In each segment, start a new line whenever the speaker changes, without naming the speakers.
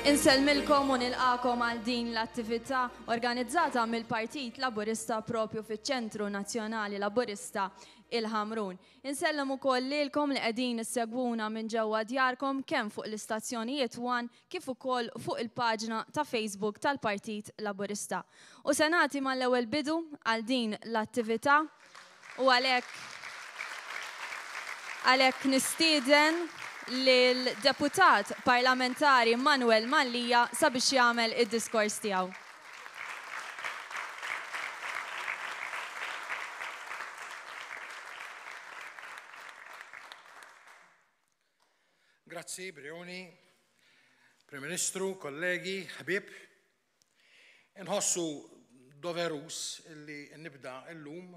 Insellmilkom u nilqakom għal din l-attività organizzata mill-Partit Laburista propju fiċ-Ċentru Nazzjonali Laburista il-Ħamrun. Insellem ukoll lilkom li qegħdin issegwuna minn ġewwa djarkom kemm fuq l-istazzjonijiet One kif ukoll fuq il-paġna ta' Facebook tal-Partit Laburista. U se nagħti mal-ewwel bidu għal din l-attività u għalhekk għalhekk nistieden lil Deputat Parlamentari Manuel Mallia sabiex jagħmel id-diskors tiegħu.
Grazzi, Brioni, Prim Ministru, kollegi, ħbieb. Inħossu doverus illi nibda illum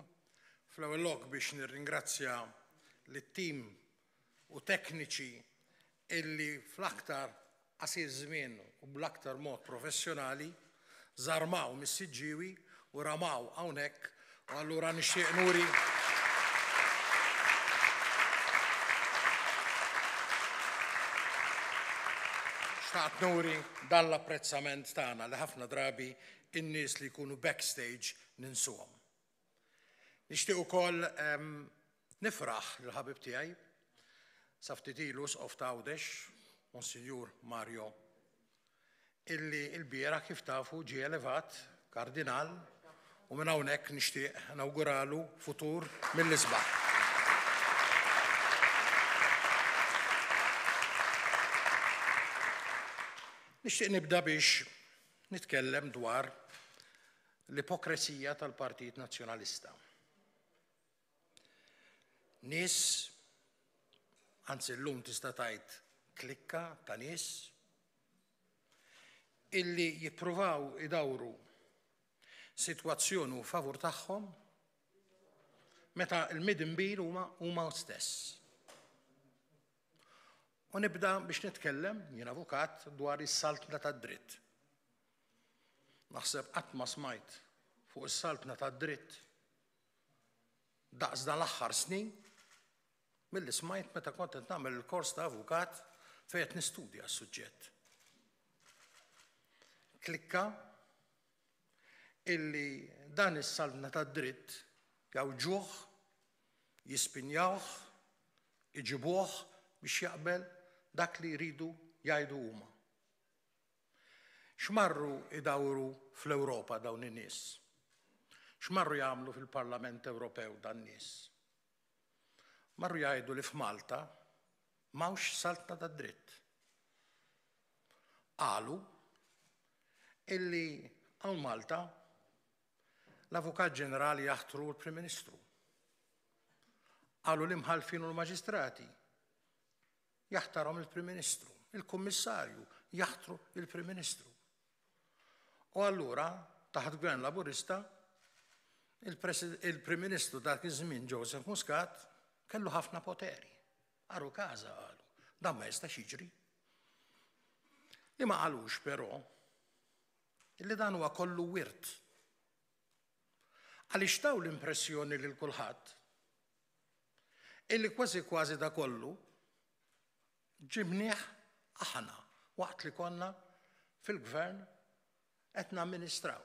fl-ewwel lok biex nirringrazzja lit-tim u tekniċi illi fl-aktar qasir żmien u bl-aktar mod professjonali żarmaw mis-Siġġiewi u ramaw hawnhekk u allura nixtieq nuri Xtaqt nuri dan l-apprezzament tagħna li ħafna drabi in-nies li jkunu backstage ninsuhom. Nixtieq ukoll nifraħ lill-ħabib tiegħi sa ftit ilu Isqof ta' Għawdex, Monsinjur Mario, illi l-bieraħ kif tafu ġie elevat Kardinal u minn hawnhekk nixtieq nawguralu futur mill-isbaħ. Nixtieq nibda biex nitkellem dwar l-ipokresija tal-Partit Nazzjonalista. Nies, anzi llum tista' tgħid klikka ta' nies, illi jippruvaw idawru sitwazzjoni u favur tagħhom meta l-midinbin huma huma stess. U nibda biex nitkellem, jien avukat, dwar is-saltna tad-dritt. Naħseb qatt ma smajt fuq is-saltna tad-dritt daqs dan l-aħħar snin milli smajt meta kont qed nagħmel il-kors ta' avukat fejn qed nistudja s-suġġett. Klikka illi dan is-saltna tad-dritt jgħawġuh, jispinjawh, iġibuh biex jaqbel dak li jridu jgħidu huma. X'marru idawru fl-Ewropa dawn in-nies? X'marru jagħmlu fil-Parlament Ewropew dan nies? Marru jgħidu li f'Malta m'hawnx saltna tad-dritt. Qalu illi hawn Malta l-Avukat Ġenerali jaħtru l-Prim Ministru. Qalu l-imħallfin u l-maġistrati jaħtarhom il-Prim Ministru, il-Kummissarju jaħtru il-Prim Ministru. U allura, taħt Gvern Laburista, il-Prim Ministru dak iż-żmien Joseph Muscat kellu ħafna poteri. Għaru każa qalu, dan ma jistax jiġri. Li ma qalux però li dan huwa kollu wirt. Għaliex taw l-impressjoni lil kulħadd illi kważi kważi da kollu ġibnieh aħna waqt li konna fil-gvern qed namministraw.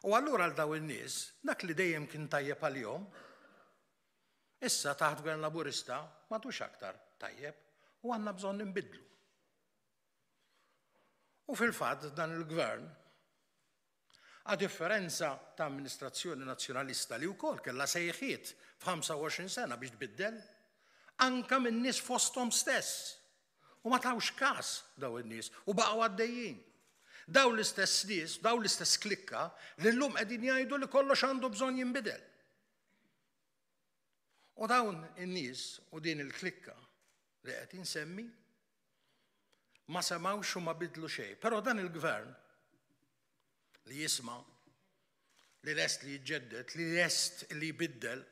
U allura għal daw in-nies, dak li dejjem kien tajjeb għalihom, issa taħt gvern Laburista m'għadux aktar tajjeb u għandna bżonn nbidlu. U fil-fatt dan il-gvern A differenza ta' amministrazzjoni Nazzjonalista li wkoll kellha sejħiet f'25 sena biex tbiddel, anke minn nies fosthom stess. U ma tawx każ dawn in-nies u baqgħu għaddejjin. Dawn l-istess nies, dawn l-istess klikka li llum qegħdin jgħidu li kollox għandu bżonn jinbidel. U dawn in-nies u din il-klikka li qed insemmi ma semgħux u ma bidlu xejn. Però dan il-gvern li jisma' li lest li jiġġedded, li lest li jbiddel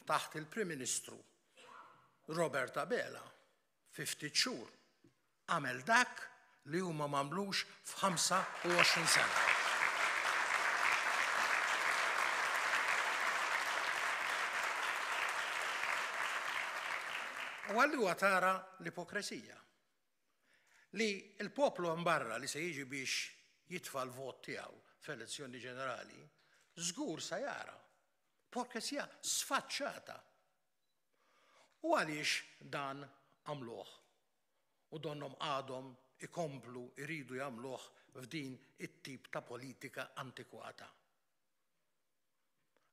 taħt il-Prim Ministru Robert Abela fi ftit xhur għamel dak li huma m'għamlux f'25 sena. U allura tara l-ipokresija. Li l-poplu hemm barra li se jiġi biex jitfa' l-vot tiegħu f'elezzjoni ġenerali, żgur se jara porkesija sfaċċata. U għaliex dan għamluh? U donnhom għadhom ikomplu jridu jagħmluh f'din it-tip ta' politika antikwata.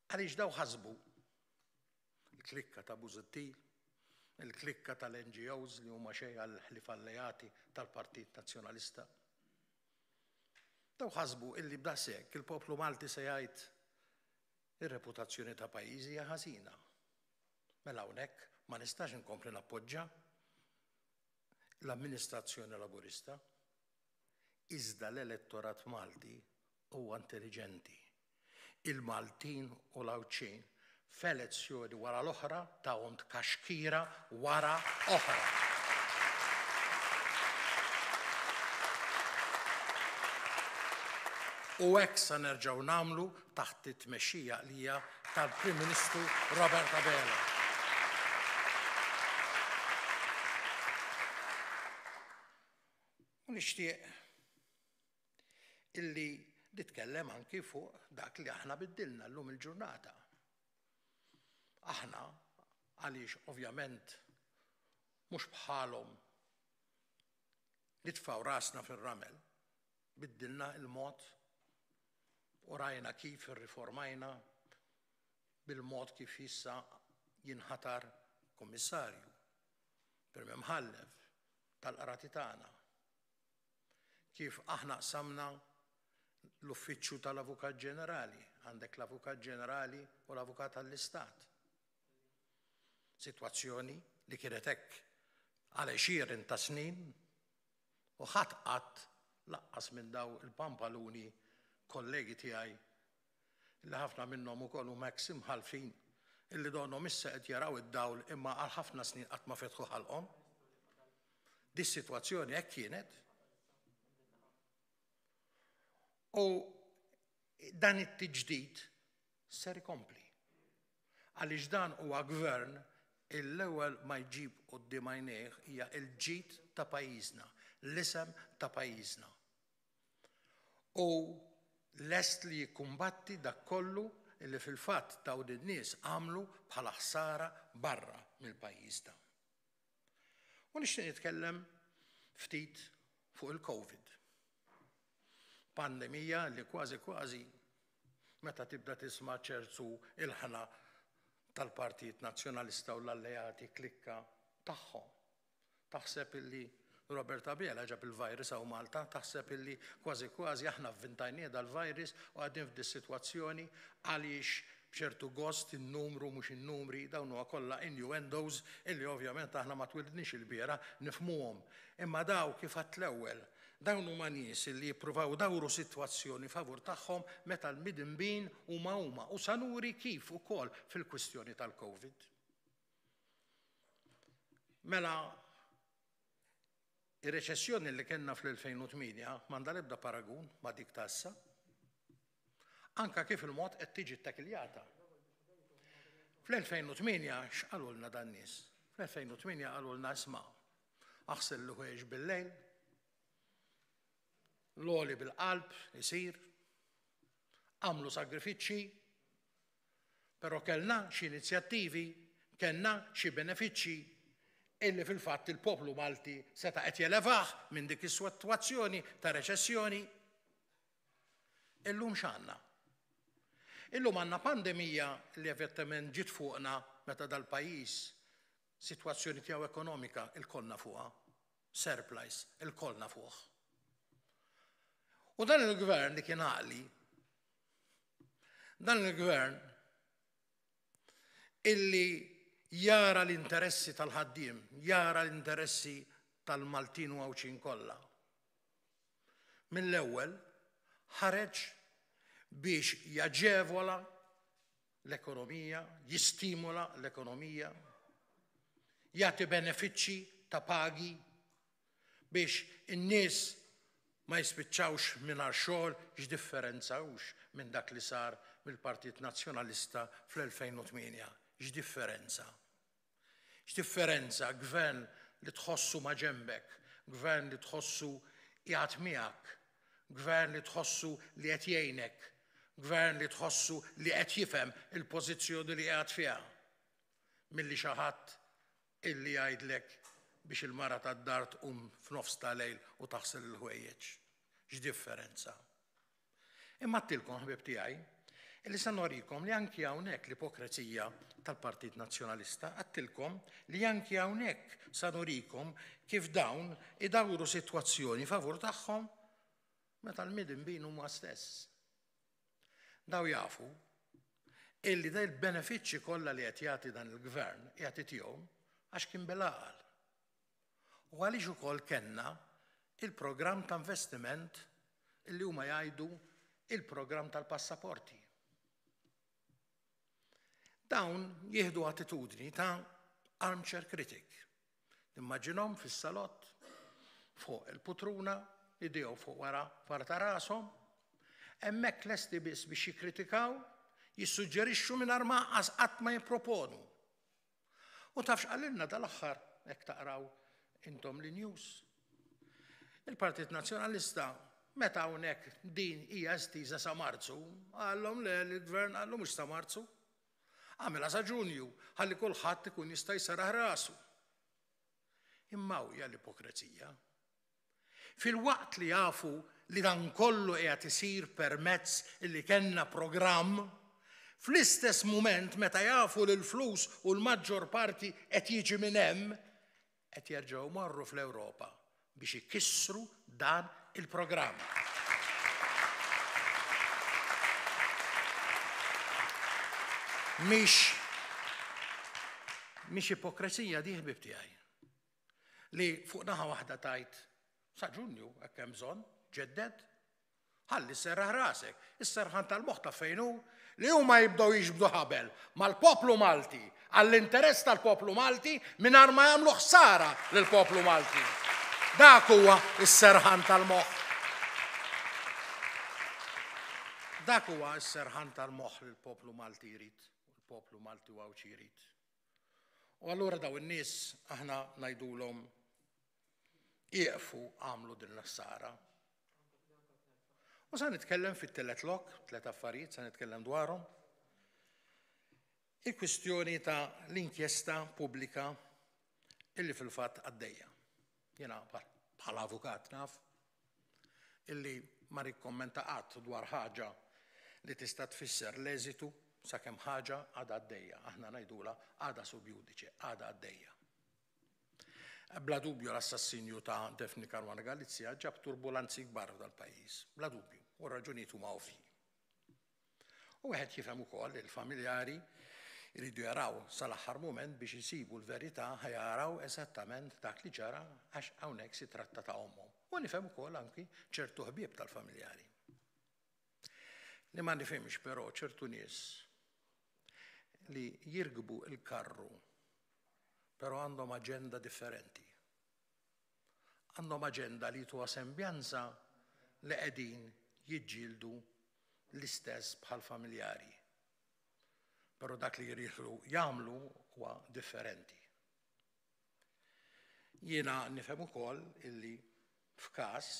Għaliex daw ħasbu il-klikka ta' Busuttil, il-klikka tal-NGOs li huma xejn għal ħlief alleati tal-Partit Nazzjonalista. Daw ħasbu illi b'daqshekk il-poplu Malti se jgħid ir-reputazzjoni ta' pajjiżi hija ħażina. Mela hawnhekk ma nistax inkompli nappoġġa l-amministrazzjoni Laburista. Iżda l-elettorat Malti huwa intelliġenti. Il-Maltin u l-Għawdxin f'elezzjoni wara l-oħra tawhom tkaxkira wara oħra. U hekk se nerġgħu nagħmlu taħt it-tmexxija għaqlija tal-Prim Ministru Robert Abela. U nixtieq illi nitkellem anki fuq dak li aħna biddilna llum il-ġurnata. Aħna għaliex ovvjament mhux bħalhom nitfgħu rasna fir-ramel, biddilna il-mod u rajna kif irriformajna bil-mod kif issa jinħatar kummissarju, Prim Imħallef tal-qrati tagħna. Kif aħna qsamna l-uffiċċju tal-Avukat Ġenerali, għandek l-Avukat Ġenerali u l-Avukat għall-Istat. Sitwazzjoni li kienet hekk għal għexieren ta' snin u ħadd qatt laqqas minn daw il-pampaluni kollegi tiegħi li ħafna minnhom ukoll huma eks imħallfin illi donnhom issa qed jaraw id-dawl imma għal ħafna snin qatt ma fetħu ħalqhom. Dis-sitwazzjoni hekk kienet. U dan it-tiġdid ser ikompli. Għaliex dan huwa gvern l-ewwel ma jġib quddiem għajnejh hija l-ġid ta' pajjiżna, l-isem ta' pajjiżna. U lest li jikkumbatti dak kollu li fil-fatt dawn in-nies għamlu bħala ħsara barra mill-pajjiż ta'. U nixtieq nitkellem ftit fuq il-Covid. Pandemija li kważi kważi meta tibda tisma' ċertu ilħna tal-Partit Nazzjonalista u l-alleati klikka tagħhom. Taħseb illi Robert Abela ġab il-virus hawn Malta, taħseb illi kważi kważi aħna vvintajnieh dal-virus u qegħdin f'dis-sitwazzjoni għaliex b'ċertu gost in-numru mhux in-numri, dawn huwa kollha innuendos illi ovvjament aħna ma twilidniex ilbieraħ nifhmuhom. Imma daw kif għedt l-ewwel, dawn huma nies illi jippruvaw idawru sitwazzjoni favur tagħhom meta l-midinbin huma huma u sa nuri kif ukoll fil-kwistjoni tal-Covid. Mela Ir-reċessjoni li kellna fl-2008 m'għandha l-ebda paragun ma' dik ta' issa. Anka kif il-mod qed tiġi ttekiljata. Fl-2008 x'qalulna dan-nies? Fl-2008 qalulna isma' aħsel l-ħwejjeġ bil-lejl, l-għoli bil-qalb isir, għamlu sagrifiċċji, Però kellna xi inizjattivi, kellna xi benefiċċji illi fil-fatt il-poplu Malti seta' qed jelevah minn dik is-sitwazzjoni ta' reċessjoni. Illum x'għandna? Illum għandna pandemija li evidentement ġiet fuqna meta dal-pajjiż sitwazzjoni tiegħu ekonomika ilkoll nafuha, surplus ilkoll nafuh. U dan il-gvern li kien għaqli Dan il-gvern illi jara l-interessi tal-ħaddiem, jara l-interessi tal-Maltin u Għawdxin kollha. Mill-ewwel ħareġ biex jaġevola l-ekonomija, jistimula l-ekonomija, jagħti benefiċċji ta' pagi biex in-nies ma jispiċċawx mingħajr xogħol x'differenza hux minn dak li sar mill-Partit Nazzjonalista fl-2008. X'differenza. X'differenza gvern li tħossu ma' ġenbek, Gvern li tħossu qiegħed miegħek, Gvern li tħossu li qed jgħinek, Gvern li tħossu li qed jifhem il-pożizzjoni li qiegħed fiha, milli xi ħadd illi jgħidlek biex il-mara tad-dar tqum f'nofs ta' lejl u taħsel il-ħwejjeġ. X'differenza! Imma għedtilkom, ħbieb tiegħi, illi se norikom li anki hawnhekk l-ipokrezija tal-Partit Nazzjonalista, għedtilkom li anki hawnhekk sa nurikom kif dawn idawru sitwazzjoni favur tagħhom meta l-midinbin huma stess. Daw jafu illi da il-benefiċċji kollha li qed jagħti dan il-gvern qiegħed itihom għax kien bil-għaqal. U għaliex ukoll kellna il-programm ta' investiment illi huma jgħidu il-programm tal-passaporti. Dawn jieħdu attitudni ta' armchair critic. Nimmaġinhom fis-salott fuq il-putruna, idejhom fuq wara wara ta' rashom, hemmhekk lesti biss biex jikkritikaw, jissuġġerixxu mingħajr ma qatt ma jipproponu. U taf x'qalilna dal-aħħar hekk taqraw intom li news. Il-Partit Nazzjonalista meta hawnhekk din hija estiża sa Marzu, qallhom le l-gvern qallu mhux sa Marzu. Għamilha sa Ġunju ħalli kulħadd ikun jista' jseraħ rasu. Imma hija l-ipokrezija. Filwaqt li jafu li dan kollu qiegħed isir permezz illi kellna programm, fl-istess mument meta jafu li l-flus u l-maġġor parti qed jiġi minn hemm, qed jerġgħu jmorru fl-Ewropa biex ikissru dan il-programm. Mhix mhix ipokrezija di ħbieb tiegħi. Li fuq naħa waħda tajt sa Ġunju hekk hemm bżonn, ġedded, ħalli sserraħ rasek. Is-serħan tal-moħħ taf fejn hu? Li huma jibdew jiġbdu ħabel mal-poplu Malti għall-interess tal-poplu Malti mingħajr ma jagħmlu ħsara lill-poplu Malti. Dak huwa s-serħan tal-moħħ. Dak huwa s-serħan tal-moħħ li l-poplu Malti jrid, u l-poplu Malti u Għawdxi jrid. U allura daw in-nies aħna ngħidulhom ieqfu għamlu din l-ħsara. U sa nitkellem fit-tielet lok, tliet affarijiet sa nitkellem dwarhom. Il-kwistjoni ta' l-inkjesta pubblika illi fil-fatt għaddejja. Jiena bħala avukat naf illi ma nikkommenta qatt dwar ħaġa li tista' tfisser l-eżitu sakemm ħaġa għadha għaddejja. Aħna ngħidulha għadha sub judice, għadha għaddejja. Bla dubju l-assassinju ta' Daphne Caruana Galizia ġab turbulanzi kbar f'dal-pajjiż, bla dubju, u r-raġunijiet huma ovvji. U wieħed jifhem ukoll li l-familjari jridu jaraw sal-aħħar mument biex isibu l-verità ħa jaraw eżattament dak li ġara għax hawnhekk si tratta ta' ommhom. U nifhem ukoll anki ċertu ħbieb tal-familjari. Li ma nifhimx però ċertu nies li jirkbu l-karru però għandhom aġenda differenti. Għandhom aġenda li jtuha sembjanza li qegħdin jiġġieldu l-istess bħall-familjari. Però dak li jridu jagħmlu huwa differenti. Jiena nifhem ukoll illi f'każ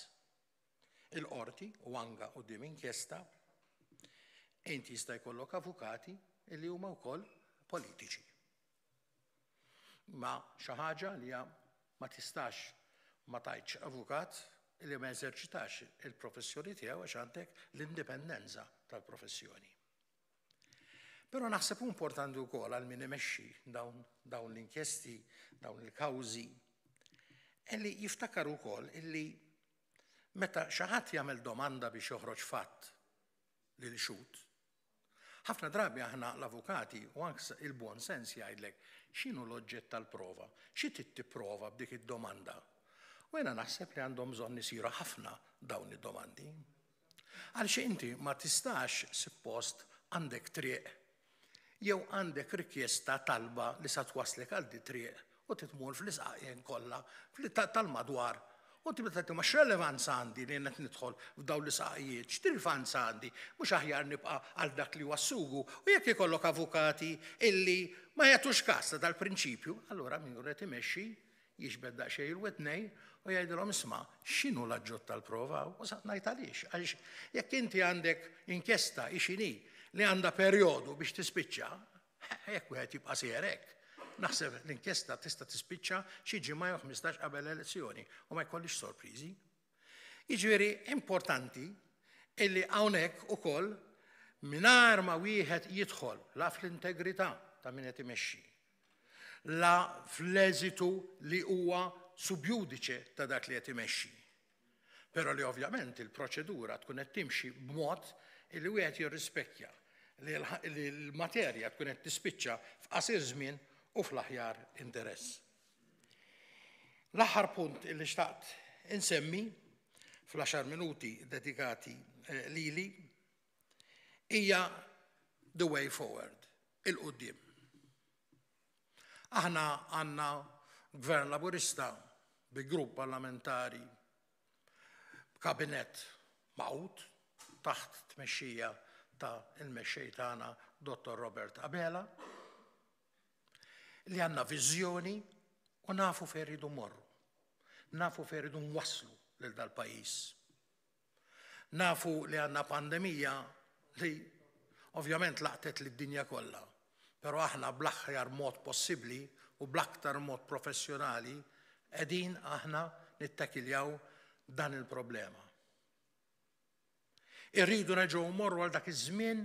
il-qorti u anka quddiem inkjesta inti jista' jkollok avukati illi huma wkoll politiċi. Ma xi ħaġa li ma tistax ma tgħidx avukat li ma jeżerċitax il-professjoni tiegħu għax għandek l-indipendenza tal-professjoni. Però naħseb importanti wkoll għal min imexxi dawn, dawn l-inkjesti, dawn il-kawżi, illi jiftakar ukoll illi meta xi ħadd jagħmel domanda biex joħroġ fatt lil xhud, Ħafna drabi aħna l-avukati u anke il-buon sens jgħidlek x'inhu l-oġġett tal-prova, xi trid tipprova b'dik id-domanda. U jiena naħseb li għandhom bżonn isiru ħafna dawn id-domandi. Għaliex inti ma tistax suppost għandek triq jew għandek rikjesta talba li sa twasslek għal di triq u titmur fl-isqaqien kollha tal-madwar u tibda tgħid imma x'relevanza għandi li qed nidħol f'dawn l-isqaqijiet, x'rilevanza għandi, mhux aħjar nibqa' għal dak li huwa s-sugu. U jekk ikollok avukati illi ma jagħtux kas ta' dal-prinċipju, allura min qed imexxi jiġbed daqsxejn il-widnejn u U jgħidilhom isma' x'inhu l-aġġott tal-prova u sa ngħid għaliex. Għaliex jekk inti għandek inkjesta hi x'inhi li għandha perjodu biex tispiċċa, jekk wieħed jibqa' sejjer hekk, naħseb l-inkjesta tista' tispiċċa xi ġimgħa jew 15 qabel l-elezzjoni u ma jkollix sorpriżi. Jiġifieri importanti illi hawnhekk ukoll mingħajr ma wieħed jidħol la fl-integrità ta' min qed imexxi, la fl-eżitu li huwa sub judice ta' dak li qed imexxi. Però li ovvjament il-proċedura tkun qed timxi b'mod li wieħed jirrispekkja li l-materja tkun qed tispiċċa f'qasir żmien u fl-aħjar interess. L-aħħar punt li xtaqt insemmi fl-għaxar minuti dedikati eh, lili hija the way forward, il-qudiem. Aħna għandna gvern laburista bi grupp parlamentari b'kabinett magħqud taħt tmexxija ta' il-mexxej tagħna Dottor Robert Abela li għandna viżjoni u nafu fejn rridu mmorru. Nafu fejn rridu nwasslu lil dal-pajjiż. Nafu li għandna pandemija li ovvjament laqtet lid-dinja kollha, però aħna bl-aħjar mod possibbli u bl-aktar mod professjonali qegħdin aħna nittakiljaw dan il-problema. Irridu nerġgħu mmorru għal dak iż-żmien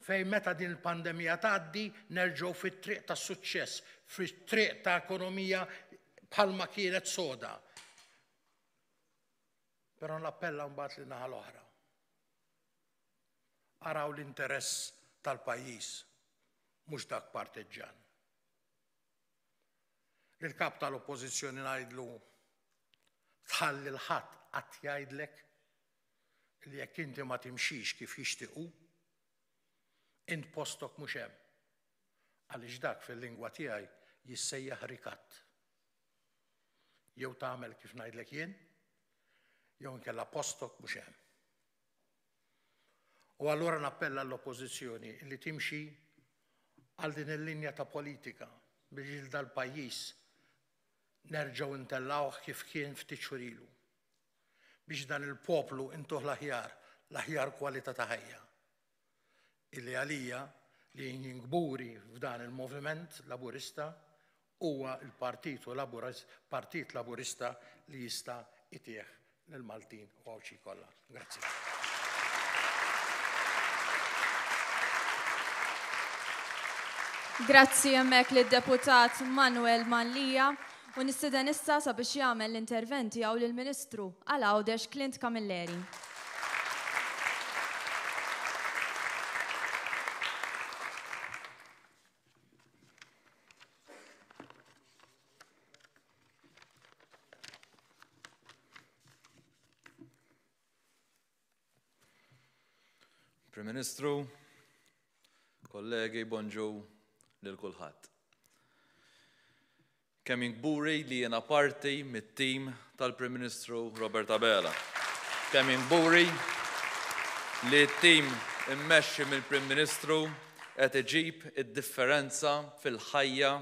fejn meta din il-pandemija tgħaddi nerġgħu fit-triq tas-suċċess, fit-triq ta' ekonomija bħalma kienet soda. Però nappella mbagħad lin naħa l-oħra. Araw l-interess tal-pajjiż, mhux dak parteġġan. Lill-kap tal-Oppożizzjoni ngħidlu tħalli l-ħadd qatt jgħidlek li jekk inti ma timxix kif jixtiequ, int postok mhux hemm. Għaliex dak fil-lingwa tiegħi jissejjaħ rikatt. Jew tagħmel kif ngħidlek jien, jew inkella postok mhux hemm. U allura nappella l-Oppożizzjoni li timxi għal din il-linja ta' politika biex lil dal-pajjiż nerġgħu ntellgħuh kif kien ftit xhur ilu. Biex dan il-poplu intuh l-aħjar, l-aħjar kwalità ta' ħajja. Illi għalija li jien kburi f'dan il-moviment Laburista huwa l-Partit Partit Laburista li jista' jtih lill-Maltin u Għawdxin kollha. Grazzi.
Grazzi hemmhekk lid-Deputat Manuel Mallia u nistieden issa sabiex jagħmel l-intervent tiegħu lill-Ministru għal Għawdex Clint Camilleri.
Prim Ministru, kollegi, bonġu lil kulħadd. Kemm jien kburi li jiena parti mit-tim tal-Prim Ministru Robert Abela. Kemm jien kburi li t-tim immexxi mill-Prim Ministru qed iġib id-differenza fil-ħajja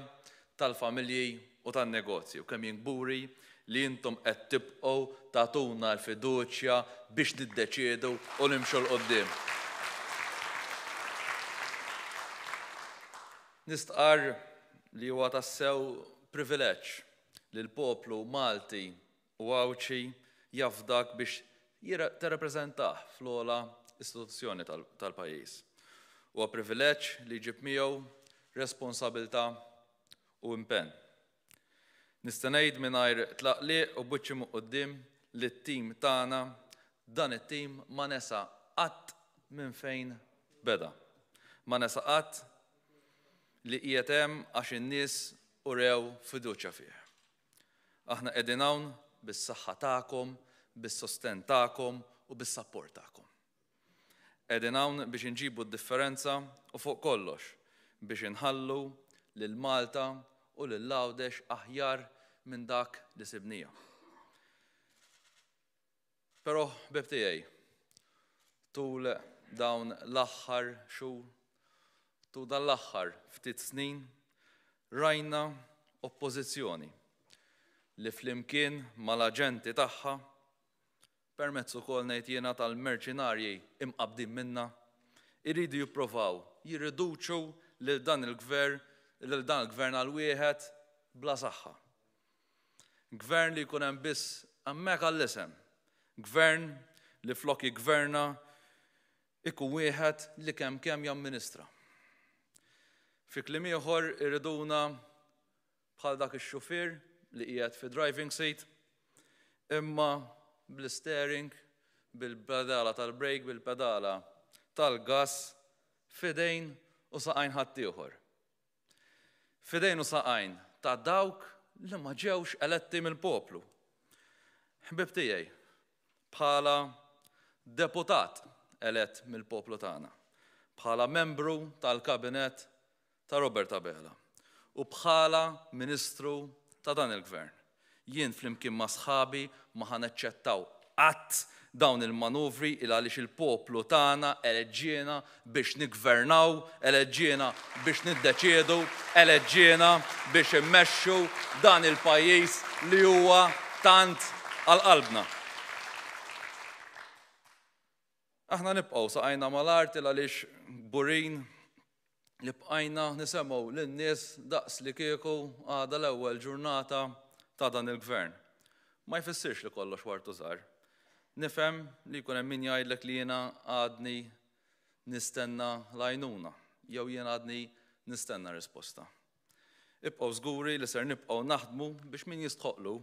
tal-familji u tan-negozji u kemm jien kburi li intom qed tibqgħu tagħtuna l-fiduċja biex niddeċiedu u nimxu 'l quddiem. Nistqarr li huwa tassew privileġġ li l-poplu Malti u Għawdxi jafdak biex tirrappreżentah fl-ogħla istituzzjoni tal-pajjiż. Huwa privileġġ li jġib miegħu responsabilità u impenn. Nista' ngħid mingħajr tlaqliq u b'wiċċi minn quddiem li t-tim tagħna, dan it-tim ma nesa qatt minn fejn beda. Ma nesa qatt li qiegħed hemm għax in-nies urew fiduċja fih. Aħna qegħdin hawn bis-saħħa tagħkom, bis-sostenn tagħkom u bis-sapport tagħkom. Qegħdin hawn biex inġibu d-differenza u fuq kollox biex inħallu lil Malta u lil Għawdex aħjar minn dak li sibniha. Però ħbieb tiegħi, tul dawn l-aħħar xhur, tul dan l-aħħar ftit snin, rajna oppożizzjoni. li flimkien mal-aġenti tagħha, permezz ukoll ngħid jiena tal-merċinarji imqabbdin minnha, iridu jipprovaw jirriduċu lil dan il-gver lil dan il-gvern għal wieħed bla saħħa. Gvern li jkun hemm biss hemmhekk għall-isem. Gvern li flok jiggverna ikun wieħed li kemm kemm jamministra. Fi kliem ieħor iriduna bħal dak ix-xufier li qiegħed fi driving seat imma bl-steering, bil-pedala tal-brake, bil-pedala tal-gas f'idejn u saqajn ħaddieħor. F'idejn u saqajn ta' dawk li ma ġewx eletti mill-poplu. Ħbieb tiegħi, bħala deputat elett mill-poplu tagħna, bħala membru tal-Kabinett ta' Robert Abela u bħala Ministru ta' dan il-Gvern, jien flimkien ma' sħabi ma ħa naċċettaw qatt dawn il-manuvri il għaliex il-poplu tagħna eleġġiena biex niggvernaw, eleġġiena biex niddeċiedu, eleġġiena biex immexxu dan il-pajjiż li huwa tant għal qalbna. Aħna nibqgħu saqajna mal-art il għaliex kburin li bqajna nisemgħu lin-nies daqs li kieku għadha l-ewwel ġurnata ta' dan il-Gvern. Ma jfissirx li kollox wartu żgħar. Nifhem li jkun hemm min jgħidlek li jiena għadni nistenna l-għajnuna jew jien għadni nistenna risposta. Ibqgħu żguri li ser nibqgħu naħdmu biex min jistħoqqlu,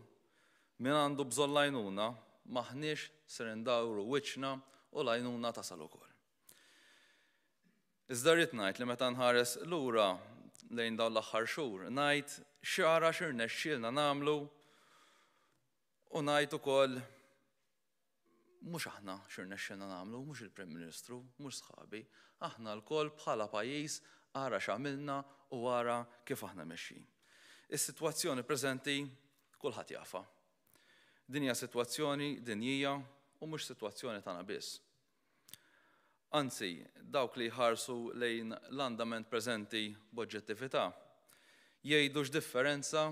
min għandu bżonn l-għajnuna, m'aħniex ser indawru wiċċna u l-għajnuna tasal ukoll. Iżda rrid ngħid li meta nħares lura lejn dawn l-aħħar xhur, ngħid x'ara x'irnexxielna nagħmlu u ngħid ukoll mhux aħna x'irnexxielna nagħmlu, mhux il-Prim Ministru, mhux sħabi, aħna lkoll bħala pajjiż ara x'għamilna u ara kif aħna mexjin. Is-sitwazzjoni preżenti kulħadd jafha. Din hija sitwazzjoni dinjija u mhux sitwazzjoni tagħna biss. Anzi, dawk li jħarsu lejn l-andament preżenti b'oġġettività, jgħidu x'differenza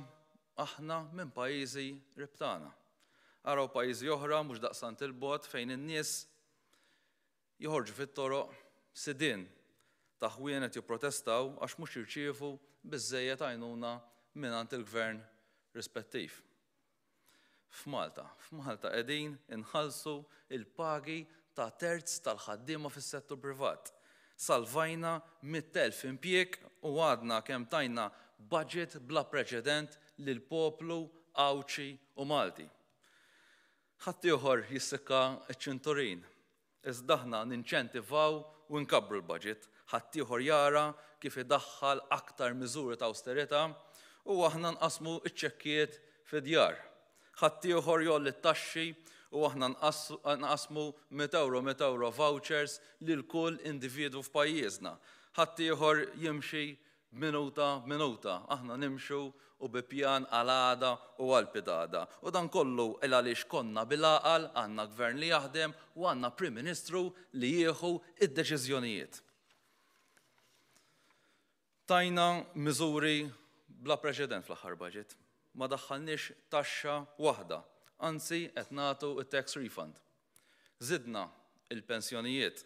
aħna minn pajjiżi qrib tagħna. Araw pajjiżi oħra mhux daqstant 'il bogħod fejn in-nies joħorġu fit-toroq sidien ta' ħwienet jipprotestaw għax mhux jirċievu biżżejjed għajnuna mingħand il-gvern rispettiv. F'Malta. F'Malta qegħdin inħallsu l-pagi ta' terz tal-ħaddiema fis-settur privat. Salvajna 100,000 impjieg u għadna kemm tajna budget bla preċedent lill-poplu Għawdxi u Malti. Ħaddieħor jissikka ċ-ċinturin. Iżda aħna ninċentivaw u nkabbru l-baġit, ħaddieħor jara kif idaħħal aktar miżuri ta' awsterità u aħna nqassmu ċ-ċekkijiet fid-djar. Ħaddieħor jgħolli t-taxxi u aħna nqassmu mitt ewro mitt ewro vouchers lil kull individwu f'pajjiżna. Ħaddieħor jimxi Minuta b'minuta, aħna nimxu u bi pjan għal għada u għal pitgħada. U dan kollu il għaliex konna bil-għaqal, għandna Gvern li jaħdem u għandna Prim Ministru li jieħu d-deċiżjonijiet. Tajna miżuri bla preċedent fl-aħħar budget. Ma daħħalniex taxxa waħda, anzi qed nagħtu t-tax refund. Żidna l-pensjonijiet,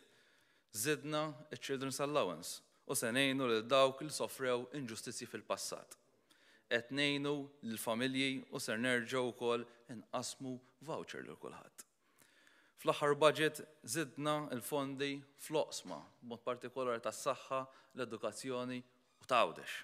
żidna ċ-children's allowance u se ngħinu lil dawk li sofrew inġustizzji fil-passat. Qed ngħinu lill-familji u ser nerġgħu wkoll inqassmu voucher lil kulħadd. Fl-aħħar budget żidna l-fondi fl-oqsma, b'mod partikolari tas-saħħa, l-edukazzjoni u ta' Għawdex.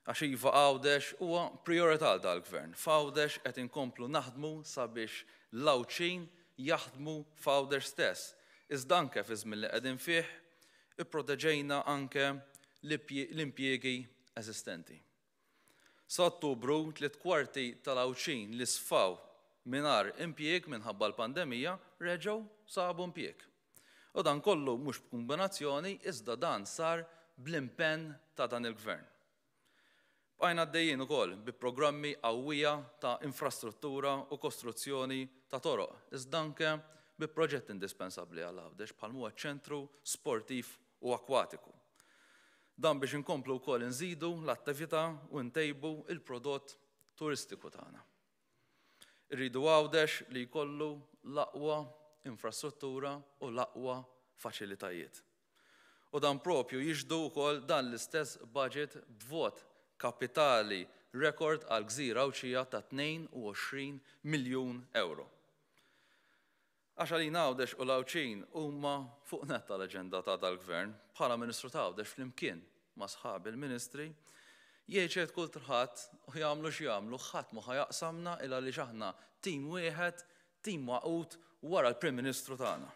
Għax iva Għawdex huwa prijorità għal dal-Gvern. F'Għawdex qed inkomplu naħdmu sabiex l-Għawdxin jaħdmu f'Għawdex stess. Iżda anke fiż-żmien li qegħdin fih, ipproteġejna anke l-impjiegi eżistenti. Sa Ottubru, 3/4 tal-Għawdxin li sfaw mingħajr impjieg minħabba l-pandemija reġgħu sabu impjieg. U dan kollu mhux b'kumbinazzjoni iżda dan sar bl-impenn ta' dan il-Gvern. Bqajna għaddejjin ukoll bi programmi qawwija ta' infrastruttura u kostruzzjoni ta' toroq iżda anke bi proġetti indispensabbli għal Għawdex bħal m'huwa ċ-ċentru sportiv u akkwatiku. Dan biex inkomplu wkoll inżidu l-attività u ntejbu l-prodott turistiku tagħna. Irridu Għawdex li jkollu l-aqwa infrastruttura u l-aqwa faċilitajiet. U dan propju jixhdu wkoll dan l-istess budget b'vot kapitali rekord għall-gżira Għawdxija ta' 22 miljun ewro. Għax għalina Għawdex u l-Għawdxin huma fuq nett tal-aġenda ta' dal-Gvern. Bħala Ministru ta' Għawdex flimkien ma' sħabi l-Ministri, jgħid xejn kulħadd u jagħmlu x'jagħmlu ħadd mhu ħa jaqsamna il għaliex aħna tim wieħed, tim magħqud wara l-Prim Ministru tagħna.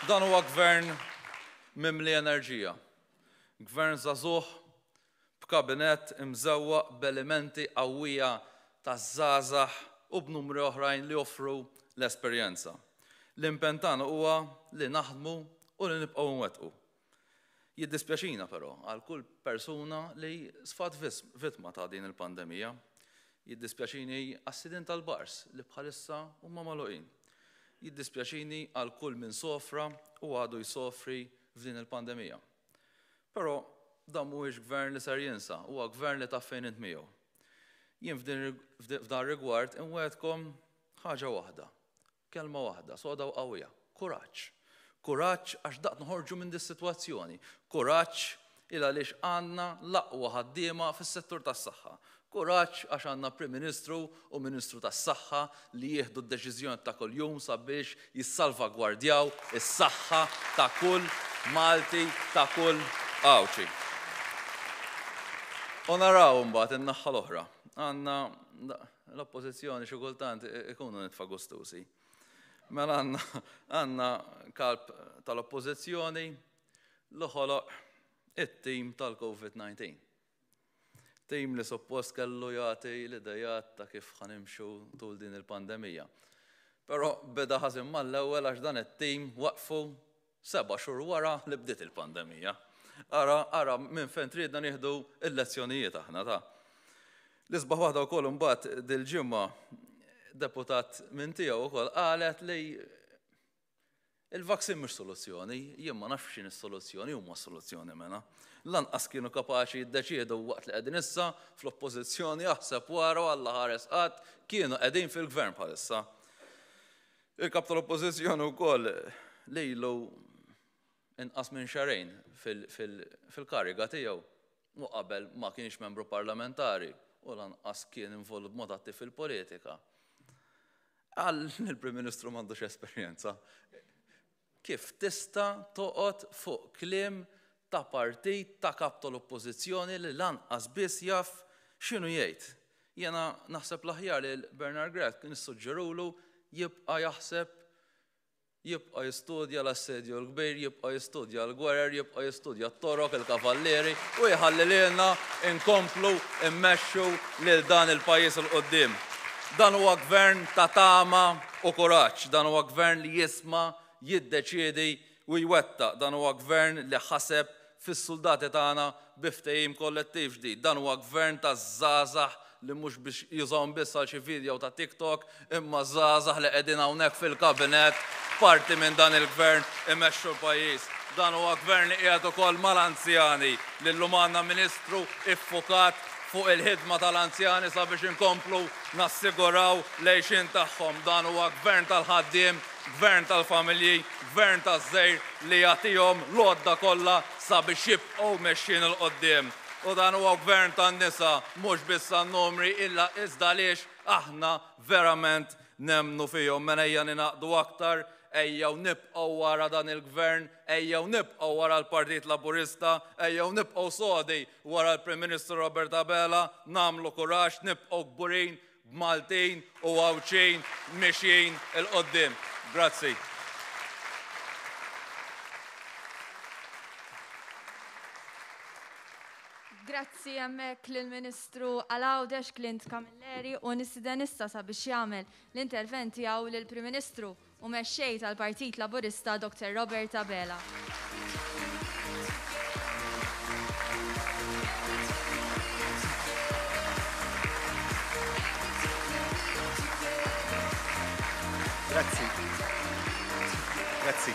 Dan huwa gvern mimli enerġija. Gvern żagħżugħ b'kabinett imżewwaq b'elementi qawwija ta' żgħażagħ u b'numri oħrajn li joffru l-esperjenza. L-impenn tagħna huwa li naħdmu u li nibqgħu nwettqu. Jiddispjaċina però għal kull persuna li sfat vittma ta' din il-pandemija. Jiddispjaċini għas-sidien tal-bars li bħalissa huma magħluqin. Jiddispjaċini għal kull min sofra u għadu jsofri f'din il-pandemija. Però dan mhuwiex gvern li ser jinsa, huwa gvern li taf fejn int miegħu. Jien f'dan rigward inwegħedkom ħaġa waħda, kelma waħda, soda u qawwija, kuraġġ. Kuraġġ għax daqt noħorġu minn dis-sitwazzjoni. Kuraġġ il għaliex għandna l-aqwa ħaddiema fis-settur tas-saħħa. Kuraġġ għax għandna Prim Ministru u Ministru tas-Saħħa li jieħdu d-deċiżjoni ta' kuljum sabiex jissalvagwardjaw is-saħħa ta' kull Malti, ta' kull Għawdxi. U naraw imbagħad in-naħa l-oħra. Għandna l-Oppożizzjoni xi kultant ikunu nitfa' gustużi. Mela għandna kalb tal-Oppożizzjoni li ħoloq it-tim tal-COVID-19. Tim li suppost kellu jagħti l-idejat ta' kif ħa nimxu tul din il-pandemija. Però beda ħażin mal-ewwel għax dan it-tim waqfu seba' xhur wara li bdiet il-pandemija. Ara, ara minn fejn tridna nieħdu l-lezzjonijiet aħna ta'. L-isbaħ waħda wkoll imbagħad dil-ġimgħa deputat minn tiegħu wkoll qalet li Il-vaccine mhux soluzzjoni, jien ma nafx x'inhi s-soluzzjoni, huma s-soluzzjoni mela. Lanqas kienu kapaċi jiddeċiedu waqt li qegħdin issa fl-oppożizzjoni aħseb wara u Alla ħares qatt kienu qegħdin fil-gvern bħalissa. Il-kap tal-oppożizzjoni wkoll lilu inqas minn xahrejn fil-kariga tiegħu u qabel ma kienx membru parlamentari u lanqas kien involut b'mod attiv fil-politika. Qal li l-Prim Ministru m'għandux esperjenza. Kif tista' toqgħod fuq kliem ta' partit ta' kap tal-Oppożizzjoni li lanqas biss jaf x'inhu jgħid? Jiena naħseb l-aħjar li Bernard Grech nissuġġerulu jibqa' jaħseb Jibqa' jistudja l-Assedju l-Kbir, jibqa' jistudja l-gwerer, jibqa' jistudja t-Torok, il-Kavallieri, u jħalli lilna nkomplu mmexxu lil dan il-pajjiż 'il quddiem. Dan huwa gvern ta' tama u kuraġġ. Dan huwa gvern li jisma', jiddeċiedi u jwettaq. Dan huwa gvern li ħaseb fis-suldati tagħna bi ftehim kollettiv ġdid. Dan huwa gvern taż-żgħażagħ li mhux biex jużahom biss għal xi video ta' TikTok, imma żgħażagħ li qegħdin hawnhekk fil-kabinett parti minn dan il-gvern imexxu l-pajjiż. Dan huwa gvern li qiegħed ukoll mal-anzjani, li llum għandna Ministru iffukat fuq il-ħidma tal-anzjani sabiex inkomplu nassiguraw l-għixien tagħhom. Dan huwa gvern tal-ħaddiem Gvern tal-familji, Gvern taż-żgħir li jagħtihom l-għodda kollha sabiex jibqgħu mexjin 'il quddiem. U dan huwa Gvern tan-nisa, mhux biss għan-numri illa iżda għaliex aħna verament nemmnu fihom. Mela ejja ningħaqdu aktar, ejjew nibqgħu wara dan il-Gvern, ejjew nibqgħu wara l-Partit Laburista, ejjew nibqgħu sodi wara l-Prim Ministru Robert Abela, nagħmlu kuraġġ, nibqgħu kburin b'Maltin u Għawdxin mixjin 'il quddiem. Grazzi.
Grazzi hemmhekk lill-Ministru għal Għawdex Clint Camilleri u nistieden issa sabiex jagħmel l-intervent tiegħu lill-Prim Ministru u Mexxej tal-Partit Laburista Dr Robert Abela.
Grazzi. Grazzi.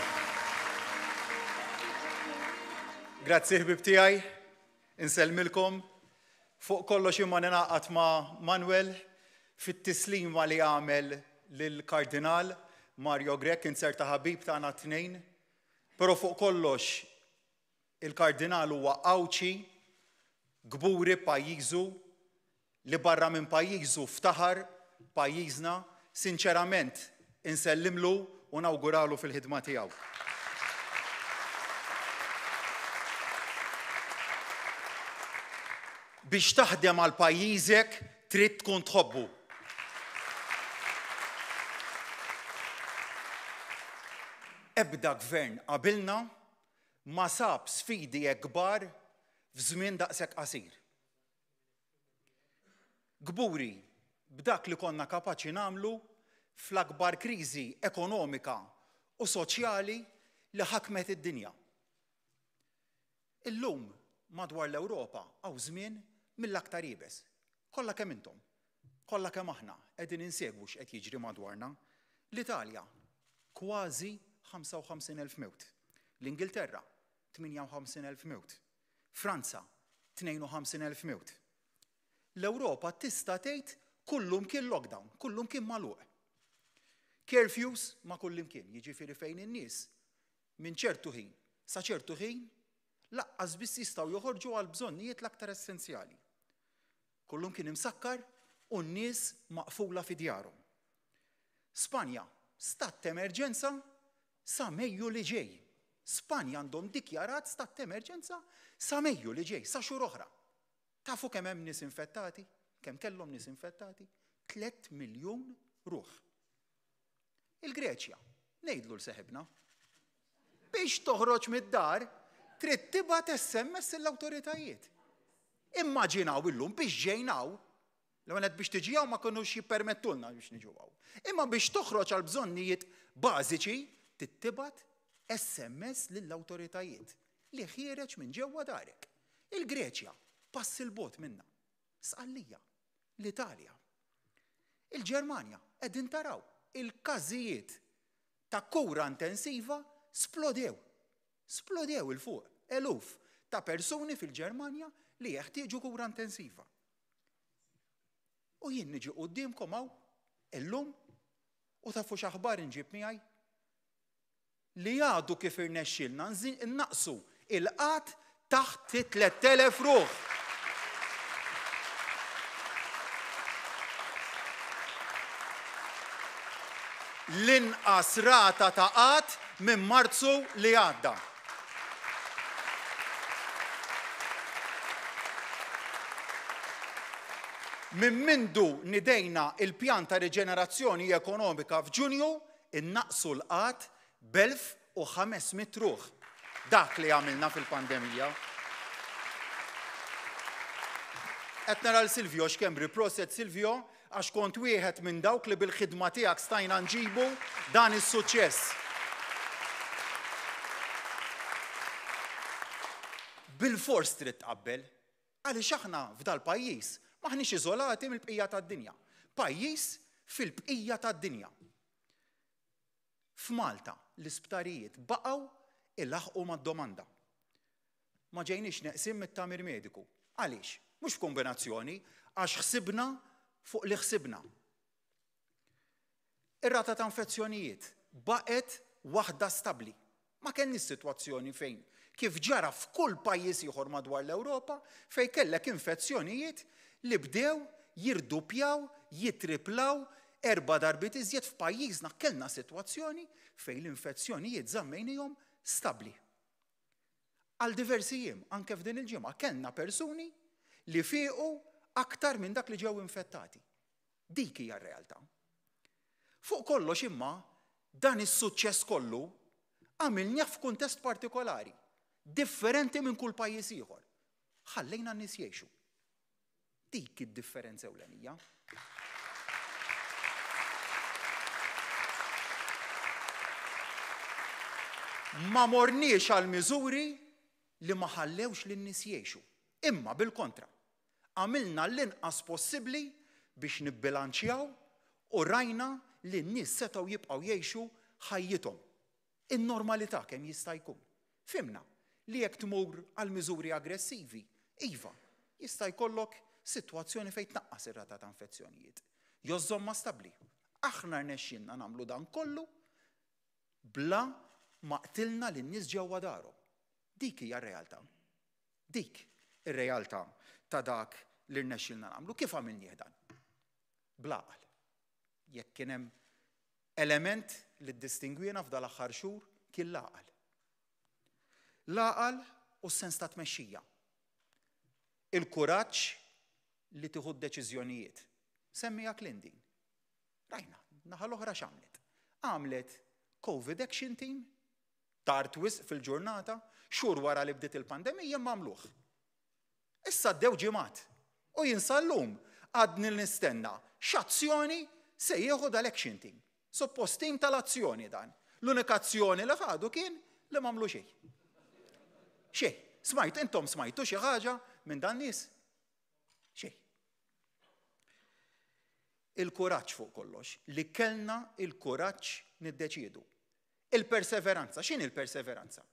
Grazzi ħbib tiegħi. Insellmilkom. Fuq kollox imma ningħaqad ma' Manuel fit-tislima li għamel lill-Kardinal Mario Grech, inzerta ħabib tagħna t-tnejn. Però fuq kollox il-Kardinal huwa Għawdxi, kburi b'pajjiżu, li barra minn pajjiżu ftaħar b'pajjiżna, sinċerament insellimlu u nawguralu fil-ħidma tiegħu. Biex taħdem għal pajjiżek trid tkun tħobbu. Ebda gvern qabilna ma sab sfidi hekk kbar f'żmien daqshekk qasir. Kburi b'dak li konna kapaċi nagħmlu fl-akbar kriżi ekonomika u soċjali li ħakmet id-dinja. Illum madwar l-Ewropa hawn żmien mill-aktar iebes. Kollha kemm intom, kollha kemm aħna qegħdin insegwu x'qed jiġri madwarna. L-Italja kważi 55,000 mewt. L-Ingilterra 58,000 mewt. Franza, 52,000 mewt. L-Ewropa tista' tgħid kullumkien lockdown, kullumkien magħluq. Curfews ma' kullimkien, jiġifieri fejn in-nies minn ċertu ħin sa ċertu ħin laqqas biss jistgħu joħorġu għal bżonnijiet l-aktar essenzjali. Kullumkien imsakkar u n-nies maqfula fi djarhom. Spanja, stat t'emerġenza sa Mejju li ġej. Spanja għandhom dikjarat stat t'emerġenza sa Mejju li ġej, sa xhur oħra. Tafu kemm hemm nies infettati? Kemm kellhom nies infettati? 3 miljun ruħ. Il-Greċja, ngħidlu l seħibna. Biex toħroġ mid-dar, trid tibgħat SMS lill-awtoritajiet. Immaġinaw illum biex ġejnaw L-ewwel nett biex tiġi hawn ma kinux jippermettulna biex niġu hawn. Imma biex toħroġ għal bżonnijiet bażiċi trid tibgħat SMS lill-awtoritajiet li ħiereġ minn ġewwa darek. Il-Greċja, pass 'il bogħod minna. Sqallija, l-Italja. Il-Ġermanja, qegħdin taraw, il-każijiet ta' kura intensiva splodew. Splodew 'il fuq, eluf ta' persuni fil-Ġermanja li jeħtieġu kura intensiva. U jien niġi quddiemkom hawn illum u tafu x'aħbar inġib miegħi? Li għadu kif irnexxielna nnaqqsu il-qgħad taħt it-3,000 ruħ. L-inqas rata ta' qgħad minn Marzu li għadda. Minn mindu nidejna il-pjan ta' riġenerazzjoni ekonomika f'Ġunju, innaqqsu l-qgħad b'1,500 ruħ. Dak li għamilna fil-pandemija. Qed nara 'l Silvio Schembri, proset Silvio, Għax kont wieħed minn dawk li bil-ħidma tiegħek stajna nġibu dan is-suċċess. Bilfors trid tqabbel. Għaliex aħna f'dal-pajjiż m'aħniex iżolati mill-bqija tad-dinja. Pajjiż fil-bqija tad-dinja. F'Malta l-isptarijiet baqgħu ilaħħqu mad-domanda. Ma ġejniex neqsin mit-tagħmir mediku. Għaliex? Mhux b'kombinazzjoni, għax ħsibna fuq li ħsibna. Ir-rata ta' infezzjonijiet baqgħet waħda stabbli. Ma kellniex sitwazzjoni fejn, kif ġara f'kull pajjiż ieħor madwar l-Ewropa, fejn kellek infezzjonijiet li bdew jirduppjaw, jittriplaw, erba' darbiet iżjed f'pajjiżna kellna sitwazzjoni fejn l-infezzjonijiet żammejnihom stabbli. Għal diversi jiem, anke f'din il-ġimgħa, kellna persuni li fiequ aktar minn dak li ġew infettati. Dik hija r-realtà. Fuq kollox imma, dan is-suċċess kollu għamilnieh f'kuntest partikolari, differenti minn kull pajjiż ieħor. Ħallejna n-nies jgħixu. Dik id-differenza ewlenija. Ma morniex għal miżuri li ma ħallewx lin-nies jgħixu. Imma bil-kontra, għamilna l-inqas possibbli biex nibbilanċjaw u rajna li n-nies setgħu jibqgħu jgħixu ħajjithom. In-normalità kemm jista' jkun. Fhimna li jekk tmur għal miżuri aggressivi, Iva, jista' jkollok sitwazzjoni fejn tnaqqas ir-rata ta' infezzjonijiet. Jew żżommha stabbli. Aħna rnexxielna nagħmlu dan kollu bla ma qtilna lin-nies ġewwa darhom. Dik hija r-realtà. Dik ir-realtà ta' dak li rnexxielna nagħmlu. Kif għamilnieh dan? Bl-għaqal. Jekk kien hemm element li ddistingwiena f'dal-aħħar xhur kien l-għaqal. L-għaqal u s-sens ta' tmexxija. Il-kuraġġ li tieħu d-deċiżjonijiet. Semmiha Clint din. Rajna, naħa l-oħra x'għamlet? Għamlet Covid Action Team, tard wisq fil-ġurnata, xhur wara li bdiet il-pandemija imma għamluh. Issa għaddew ġimgħat u jien sal-lum għadni nistenna x'azzjoni se jieħu dal-action team. Suppost team tal-azzjoni dan. L-unika azzjoni li ħadu kien li m'għamlu xejn. Xejn. Smajt, intom smajtu xi ħaġa minn dan nies? Xejn. Il-kuraġġ fuq kollox, li kellna il-kuraġġ niddeċiedu. Il-perseveranza, x'inhi l-perseveranza?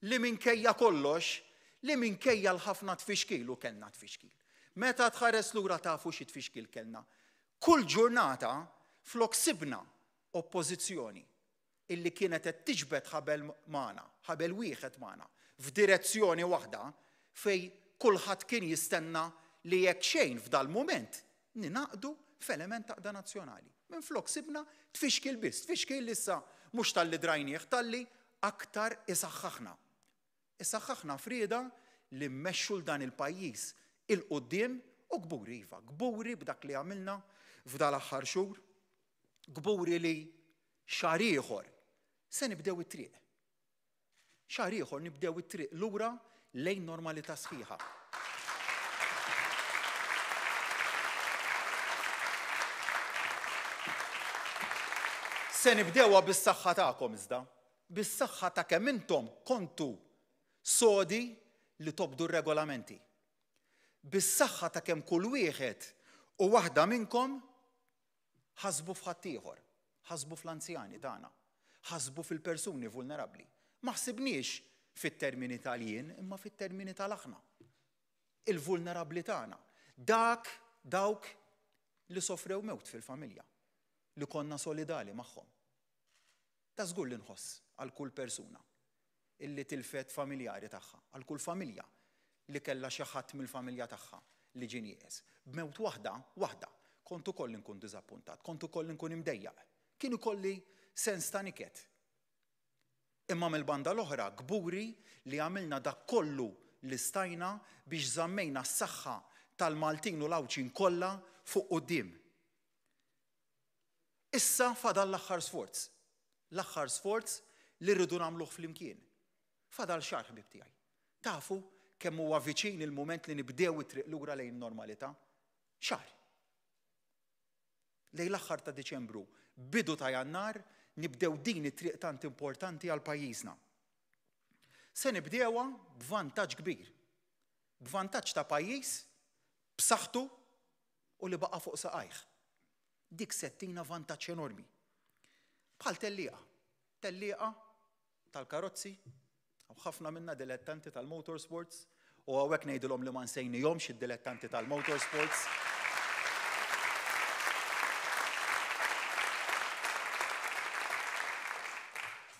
Li minkejja kollox, li minkejja l-ħafna tfixkil u kellna tfixkil. Meta tħares lura tafu xi tfixkil kellna. Kull ġurnata flok sibna oppożizzjoni illi kienet qed tiġbed ħabel magħna, ħabel wieħed magħna, f'direzzjoni waħda fejn kulħadd kien jistenna li jekk xejn f'dal-mument ningħaqdu f'element ta' għaqda nazzjonali. Minflok sibna tfixkil biss, tfixkil li issa mhux talli drajnieh, talli aktar isaħħaħna. Isaħħaħna f'rieda li mmexxu 'l dan il-pajjiż 'il quddiem u kburi iva, kburi b'dak li għamilna f'dal-aħħar xhur, kburi li xahar ieħor se nibdew it-triq. Xahar ieħor nibdew it-triq lura lejn normalità sħiħa. Se nibdewha bis-saħħa tagħkom iżda, bis-saħħa ta' kemm intom kontu sodi li tobdu r-regolamenti. Bis-saħħa ta' kemm kull wieħed u waħda minnkom Ħasbu f'ħaddieħor, ħasbu fl-anzjani tagħna, ħasbu fil-persuni vulnerabbli. Ma ħsibniex fit-termini tal-jien imma fit-termini tal-aħna. Il-vulnerabbli tagħna. Dak, dawk li sofrew mewt fil-familja, li konna solidali magħhom. Ta' żgur li nħoss għal kull persuna illi tilfet familjari tagħha, għal kull familja li kellha xi ħadd mill-familja tagħha li ġie nieqes. B'mewt waħda, waħda, kont ukoll inkun diżappuntat, kont ukoll inkun imdejjaq. Kien ikolli sens ta' niket. Imma mill-banda l-oħra kburi li għamilna dak kollu li stajna biex żammejna s-saħħa tal-Maltin u l-Għawdxin kollha fuq quddiem. Issa fadal l-aħħar sforz. L-aħħar sforz li rridu nagħmluh flimkien. Fadal xahar ħbieb tiegħi. Tafu kemm huwa viċin il-mument li nibdew it-triq lura lejn normalità? Xahar. Lejn l-aħħar ta' Diċembru, bidu ta' Jannar, nibdew din it-triq tant importanti għal pajjiżna. Se nibdewha b'vantaġġ kbir. B'vantaġġ ta' pajjiż b'saħħtu u li baqa' fuq saqajh. Dik se ttina vantaġġ enormi. Bħal tellieqa. Tellieqa tal-karozzi, hawn ħafna minna dilettanti tal-motorsports, u hawnhekk ngħidilhom li ma nsejnihomx id-dilettanti tal-motorsports.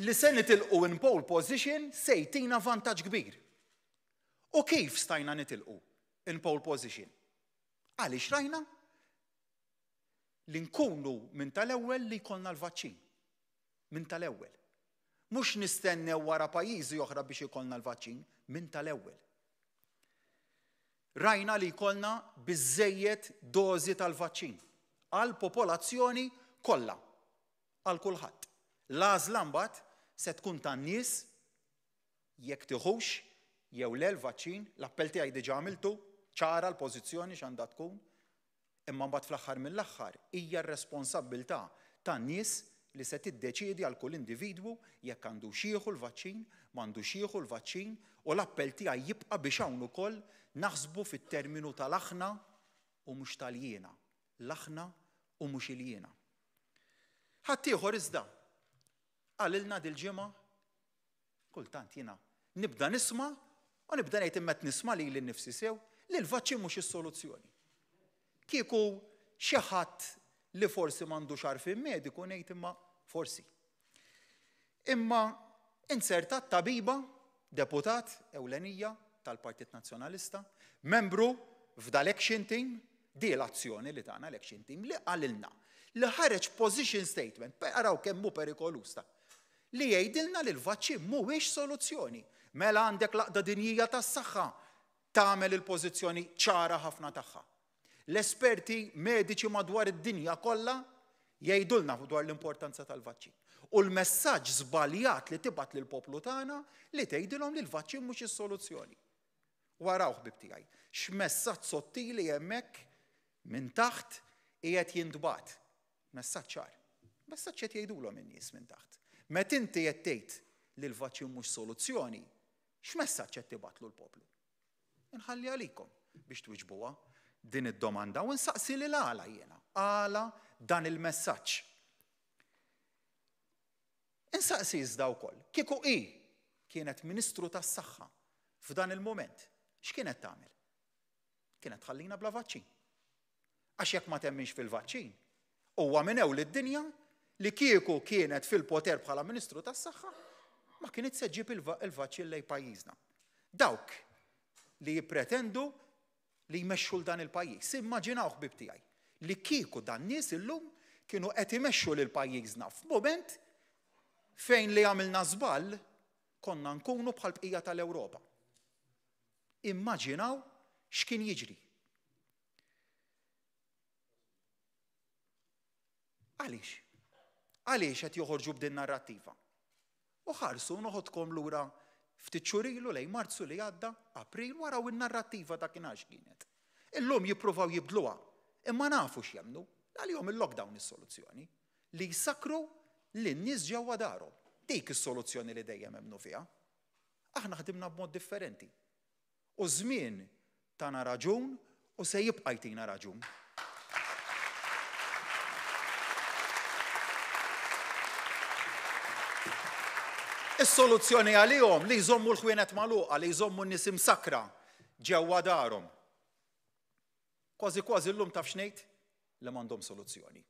Li se nitilqu in pole position se jtina vantaġġ kbir. U kif stajna nitilqu in pole position? Għaliex rajna li nkunu minn tal-ewwel li jkollna l-vaċċin. Minn tal-ewwel. Mhux nistennew wara pajjiżi oħra biex ikollna l-vaċċin, minn tal-ewwel. Rajna li jkollna biżżejjed dożi tal-vaċċin għall-popolazzjoni kollha, għal kulħadd. L-għażla mbagħad se tkun tan-nies jekk tiħux jew le l-vaċċin, l-appell tiegħi diġà għamiltu, ċara l-pożizzjoni x'għandha tkun, imma mbagħad fl-aħħar mill-aħħar hija r-responsabbiltà tan-nies li se tiddeċiedi għal kull individwu jekk għandux jieħu l-vaċċin, m'għandux jieħu l-vaċċin u l-appell tiegħi jibqa' biex hawn ukoll naħsbu fit-terminu tal-aħna u mhux tal-jiena, l-aħna u mhux il-jiena. Ħaddieħor iżda qalilna dil-ġimgħa Kultant jiena nibda nisma' U nibda ngħid imma qed nisma' lili nnifsi sew li l-vaċċin mhux is-soluzzjoni. Kieku xi ħadd li forsi m'għandux għarfien mediku ngħid imma forsi. Imma inzertat tabiba, deputat ewlenija tal-Partit Nazzjonalista, membru f'dal-action team, di l-azzjoni li tagħna l-action team li qalilna li ħareġ position statement, araw kemm hu perikoluż ta' li jgħidilna li l-vaċċin mhuwiex soluzzjoni. Mela għandek l-Għaqda Dinjija tas-Saħħa tagħmel il-pożizzjoni ċara ħafna tagħha. L-esperti mediċi madwar id-dinja kollha jgħidulna dwar l-importanza tal-vaċċin. U l-messaġġ żbaljat li tibgħat lill-poplu tagħna li tgħidilhom li l-vaċċin mhux is-soluzzjoni. U araw ħbieb tiegħi, x'messaġġ sottili hemmhekk minn taħt qiegħed jintbagħat. Messaġġ ċar. Messaġġ qed jgħidulhom in-nies minn taħt. Meta inti qed tgħid li l-vaċċin mhux soluzzjoni, x'messaġġ qed tibgħatlu l-poplu? Inħalli għalikom biex twiġbuha din id-domanda u nsaqsi lil għala jiena, għala dan il-messaġġ. Insaqsi iżda wkoll, kieku hi kienet Ministru tas-Saħħa f'dan il-mument, x'kienet tagħmel? Kienet tħallina bla vaċċin. Għax jekk ma temminx fil-vaċċin, huwa minn ewl id-dinja li kieku kienet fil-poter bħala Ministru tas-Saħħa, ma kienet se ġġib il-vaċċin lejn pajjiżna. Dawk li jippretendu li jmexxu 'l dan il-pajjiż. Immaġinaw ħbieb tiegħi li kieku dan nies illum kienu qed imexxu lil pajjiżna f'mument fejn li għamilna żball konna nkunu bħall-bqija tal-Ewropa. Immaġinaw x'kien jiġri. Għaliex? Għaliex qed joħorġu b'din narrattiva? U ħarsu noħodkom lura ftit xhur ilu lejn Marzu li għadda, April, waraw in-narrattiva dakinhar x'kienet. Illum jippruvaw jibdluha, imma nafu x'jemmnu, għalihom il-lockdown is-soluzzjoni, li jsakkru lin-nies ġewwa darhom. Dik is-soluzzjoni li dejjem emmnu fiha. Aħna ħdimna b'mod differenti. U ż-żmien tana raġun u se jibqa' jtina raġun. Is-soluzzjoni għalihom li jżommu l-ħwienet magħluqa, li jżommu n-nies imsakkra ġewwa darhom. Kważi kważi llum taf x'ngħid? Li m'għandhom soluzzjoni.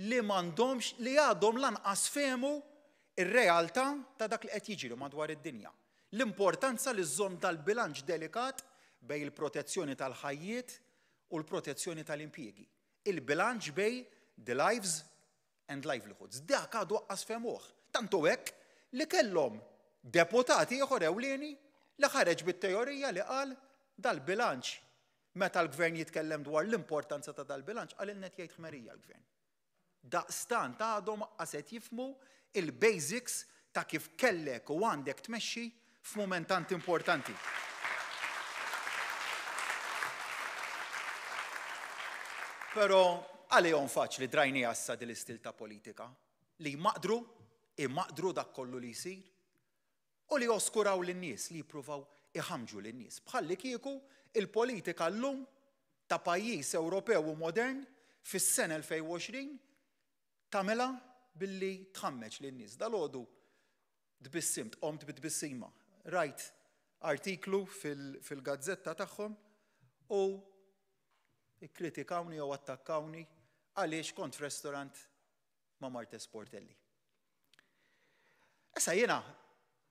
Li m'għandhomx, li għadhom lanqas fehmu r-realtà ta' dak li qed jiġri madwar id-dinja. L-importanza li żżomm dal-bilanċ delikat bejn il-protezzjoni tal-ħajjiet u l-protezzjoni tal-impjiegi. Il-bilanċ bejn the lives and livelihoods. Dak għadu aqqas fehmuh. Tant hu hekk li kellhom deputat ieħor ewlieni li ħareġ bit-teorija li qal dal-bilanċ Meta l-Gvern jitkellem dwar l-importanza ta' dal-bilanċ, qalilna qed jgħid ħmerija l-Gvern. Daqstant għadhom aqqas qed jifhmu il-basics ta' kif kellek u għandek tmexxi f'mument tant importanti. Però għalihom faċli drajniha issa din l-istil ta' politika li jmaqdru, imaqdru dak kollu li jsir u li joskuraw lin-nies, li jippruvaw iħammġu lin-nies. Bħallikieku il-politika llum ta' pajjiż Ewropew u modern fis-sena 2020 tagħmilha billi tħammeġ lin-nies. Dalgħodu tbissimt, qomt bi tbissima. Rajt artiklu fil-gazzetta tagħhom u ikkritikawni jew attakkawni għaliex kont f'restaurant ma' Martes Portelli. Issa jiena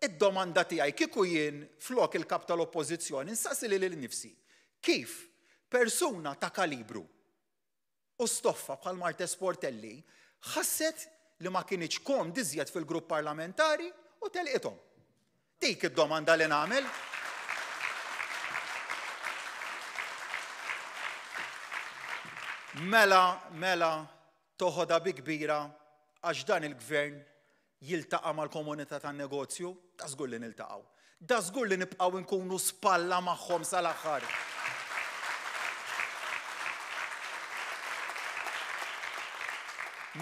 id-domanda tiegħi kieku jien flok il-kap tal-oppożizzjoni nsaqsi lili nnifsi kif persuna ta' kalibru u stoffa bħal Martes Portelli ħasset li ma kinitx komd iżjed fil-grupp parlamentari u telqithom. Dik id-domanda li nagħmel. Mela, mela, Toħodha bi kbira għax dan il-Gvern jiltaqa' mal-komunità tan-negozju? Dażgur li niltaqgħu. Dażgur li nibqgħu nkunu spalla magħhom sal-aħħar.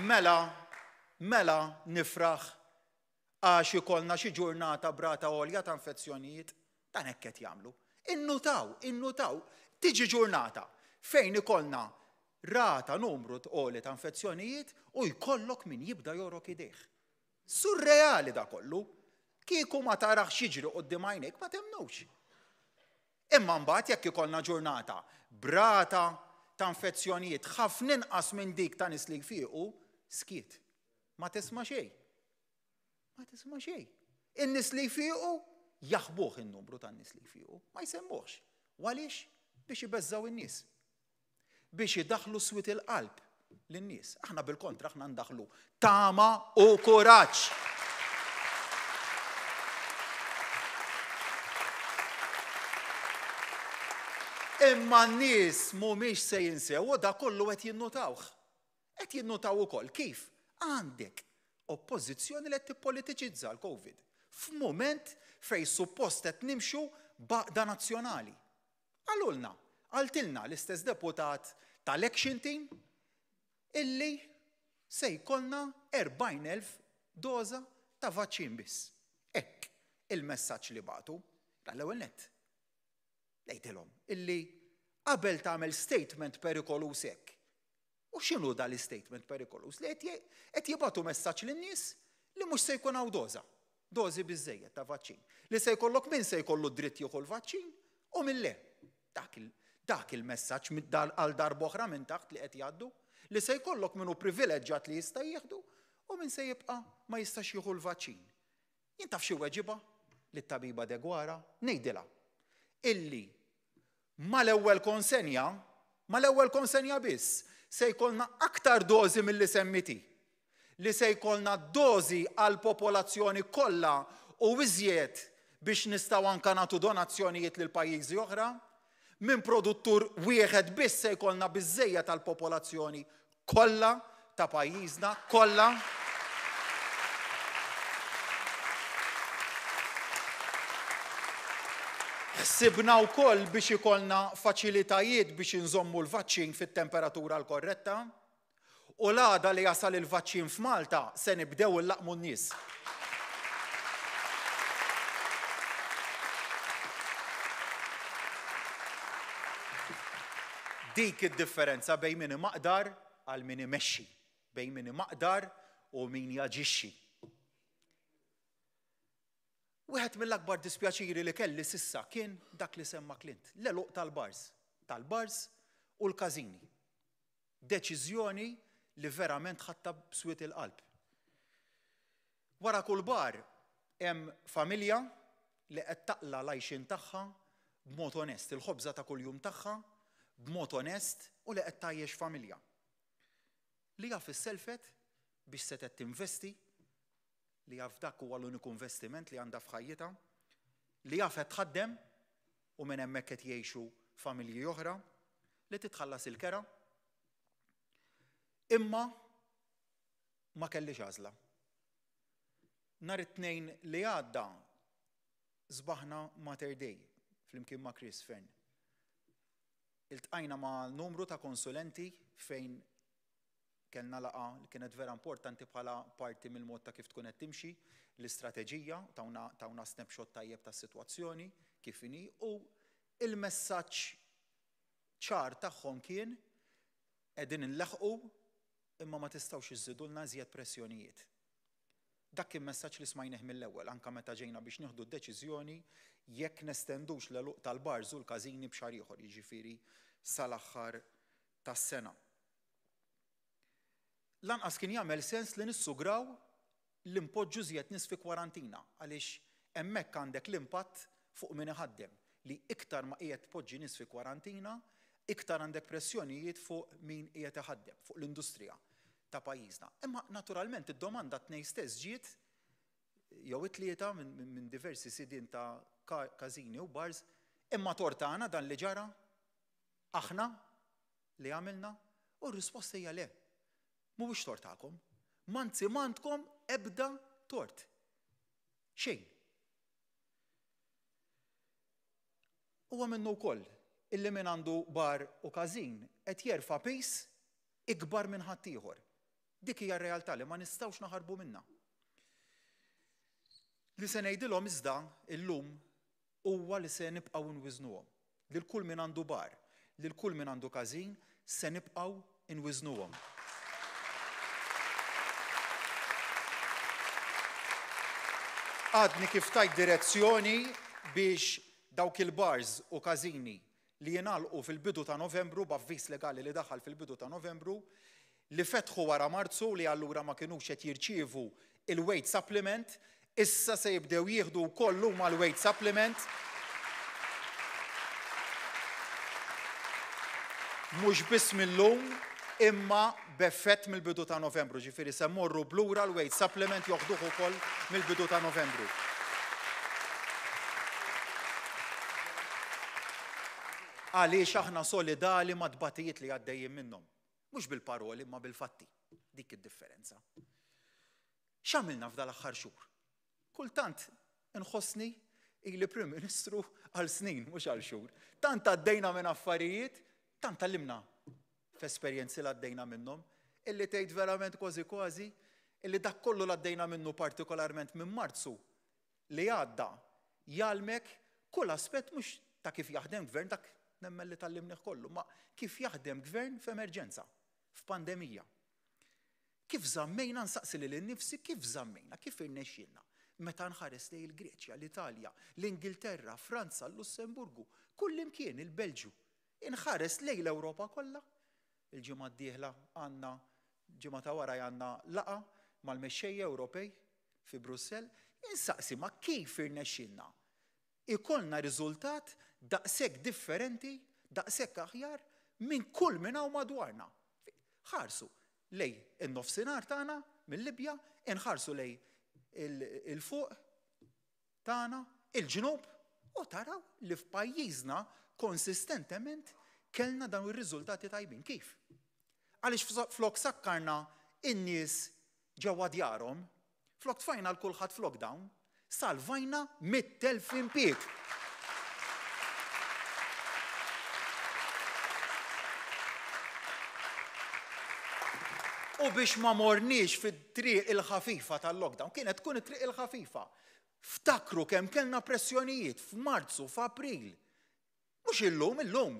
Mela, mela nifraħ Għax ikollna xi ġurnata b'rata għolja ta' infezzjonijiet? Dan hekk qed jagħmlu. Innutaw, innutaw, tiġi ġurnata fejn ikollna rata numru għoli ta' infezzjonijiet u jkollok min jibda jogħrok idejh. Surreali da kollu. Kieku ma tarax jiġri quddiem għajnejk ma temnux. Imma mbagħad jekk ikollna ġurnata b'rata ta' infezzjonijiet ħafna inqas minn dik ta' nies li jfiequ, skiet. Ma tisma' xejn. Ma tisma' xejn. In-nies li jfiequ jaħbuh in-numru tan-nies li jfiequ, ma jsemmuhx. U għaliex? Biex ibeżżgħu in-nies. Biex idaħħlu swied il-qalb lin-nies. Aħna bil-kontra aħna ndaħħlu tama u kuraġġ. Imma n-nies mhumiex se jinsew u da kollu qed jinnutawh. Qed jinnutaw ukoll kif għandek oppożizzjoni li qed tippolitiċizza l-Covid f'mument fejn suppost qed nimxu b'għaqda nazzjonali. Qalulna, qaltilna l-istess deputat tal-Action Team illi se jkollna 40,000 doża ta' vaċċin biss. Hekk il-messaġġ li bagħtu. L-ewwel nett. Ngħidilhom illi qabel tagħmel statement perikoluż hekk, U x'inhu dan l-istatement perikoluż? Li qed jibgħatu messaġġ lin-nies li mhux se jkun hawn doża, dożi biżżejjed ta' vaċċin. Li se jkollok min se jkollu dritt jieħu l-vaċċin u min le. Dak il, dak il-messaġġ għal darb'oħra minn taħt li qed jgħaddu, li se jkollok min hu privileġġat li jista' jieħdu u min se jibqa' ma jistax jieħu l-vaċċin. Jien taf xi weġiba lit-tabiba Deguara? Ngħidilha illi mal-ewwel konsenja, mal-ewwel konsenja biss, se jkollna aktar dożi milli semmiet hi. Li se jkollna dożi għall-popolazzjoni kollha u iżjed biex nistgħu anke nagħtu donazzjonijiet lil pajjiżi oħra. Minn produttur wieħed biss se jkollna biżżejjed għall-popolazzjoni kollha ta' pajjiżna kollha. Ħsibna wkoll biex ikollna faċilitajiet biex inżommu l-vaċċin fit-temperatura l-korretta. U l-għada li jasal il-vaċċin f'Malta se nibdew illaqmu n-nies. Dik id-differenza bejn min imaqdar għal min imexxi, bejn min imaqdar u min jaġixxi. Wieħed mill-akbar dispjaċiri li kelli s'issa kien dak li semma Clint, l-għeluq tal-bars, tal-bars u l-każini. Deċiżjoni li verament ħadtha b'swied il-qalb. Wara kull bar hemm familja li qed taqla' l-għajxien tagħha b'mod onest, il-ħobża ta' kuljum tagħha b'mod onest u li qed tgħajjex familja. Li jaf isselfet biex setgħet tinvesti, li jaf dak huwa l-uniku investiment li għandha f'ħajjitha, li jaf qed tħaddem u minn hemmhekk qed jgħixu familji oħra, li titħallas il-kera. Imma ma kellix għażla. Nhar it-Tnejn li għadda sbaħna Mater Dei flimkien ma' Chris Fearne. Iltqajna ma' numru ta' konsulenti fejn kellna laqgħa li kienet vera importanti bħala parti mill-mod ta' kif tkun qed timxi l-istrateġija, tawna, tawna snapshot tajjeb tas-sitwazzjoni kif inhi u il-messaġġ ċar tagħhom kien qegħdin inleħqu imma ma tistgħux iżżidulna iżjed pressjonijiet. Dak kien messaġġ li smajnih mill-ewwel, anke meta ġejna biex nieħdu d-deċiżjoni jekk nestendux l-għeluq tal-bars u l-każini b'xahar ieħor, jiġifieri sal-aħħar tas-sena. Lanqas kien jagħmel sens li nissugraw li npoġġu iżjed nies fi kwarantina għaliex hemmhekk għandek l-impatt fuq min iħaddem li iktar ma qiegħed tpoġġi nies fi kwarantina, iktar għandek pressjonijiet fuq min qiegħed iħaddem, fuq l-industrija ta' pajjiżna. Imma naturalment id-domanda t-Tnejn stess ġiet jew it-Tlieta minn diversi sidien ta' każini u bars, imma tort tagħna dan li ġara? Aħna li għamilna? U r-risposta hija le. Mhuwiex tort tagħkom. M'anzi m'għandkom ebda tort. Xejn. Huwa minnu wkoll illi min għandu bar u każin qed jerfa' piż ikbar minn ħaddieħor. Dik hija r-realtà li ma nistgħux naħarbu minnha. Li se ngħidilhom iżda illum huwa li se nibqgħu nwiżnuhom. Lil kull min għandu bar, lil kull min għandu każin, se nibqgħu nwiżnuhom. Għadni kif tajt direzzjoni biex dawk il-bars u każini li jingħalqu fil-bidu ta' Novembru b'avviż legali li daħal fil-bidu ta' Novembru, li fetħu wara Marzu li allura ma kinux qed jirċievu il-wage supplement, issa se jibdew jieħdu wkoll huma l-wage supplement. Mhux biss mil-lum imma b'effett mill-bidu ta' Novembru, ġifieri se mmorru b'lura l-wage supplement joħduh ukoll mill-bidu ta' Novembru. Għaliex aħna solidali mat-tbatijiet li għaddejjin minnhom. Mhux bil-paroli imma bil-fatti. Dik id-differenza. X'għamilna f'dal-aħħar xhur? Kultant inħossni ili Prim Ministru għal snin, mhux għal xhur. Tant għaddejna minn affarijiet, tant tgħallimna f'esperjenzi li għaddejna minnhom, illi tgħid verament kważi kważi illi dak kollu li għaddejna minnu partikolarment minn Marzu li għadda jgħallmek kull aspett mhux ta' kif jaħdem gvern, dak nemmen li tgħallimnih kollu, ma kif jaħdem gvern f'emerġenza, f'pandemija. Kif żammejna, nsaqsi lili nnifsi, kif żammejna, kif irnexxielna meta nħares lejn il-Greċja, l-Italja, l-Ingilterra, Franza, l-Lussemburgu, kullimkien, il-Belġju. Inħares lejn l-Ewropa kollha. Il-ġimgħa d-dieħla għandna, ġimgħa ta' wara għandna laqgħa mal-mexxejja Ewropej fi Brussell, insaqsi ma kif irnexxielna ikollna riżultat daqshekk differenti, daqshekk aħjar minn kull min hawn madwarna. Ħarsu lejn in-nofsinhar tagħna mil-Libja, inħarsu lejn il-fuq tagħna, il-ġnub, u taraw li f'pajjiżna konsistentement kellna dawn ir-riżultati tajbin. Kif? Għaliex flok sakkarna in-nies ġewwa djarhom, flok tfajna 'l kulħadd f'lockdown, salvajna 100,000 impieg. U biex ma morniex fit-triq il-ħafifa tal-lockdown, kienet tkun it-triq il-ħafifa. Ftakru kemm kellna pressjonijiet f'Marzu, f'April. Mhux illum, illum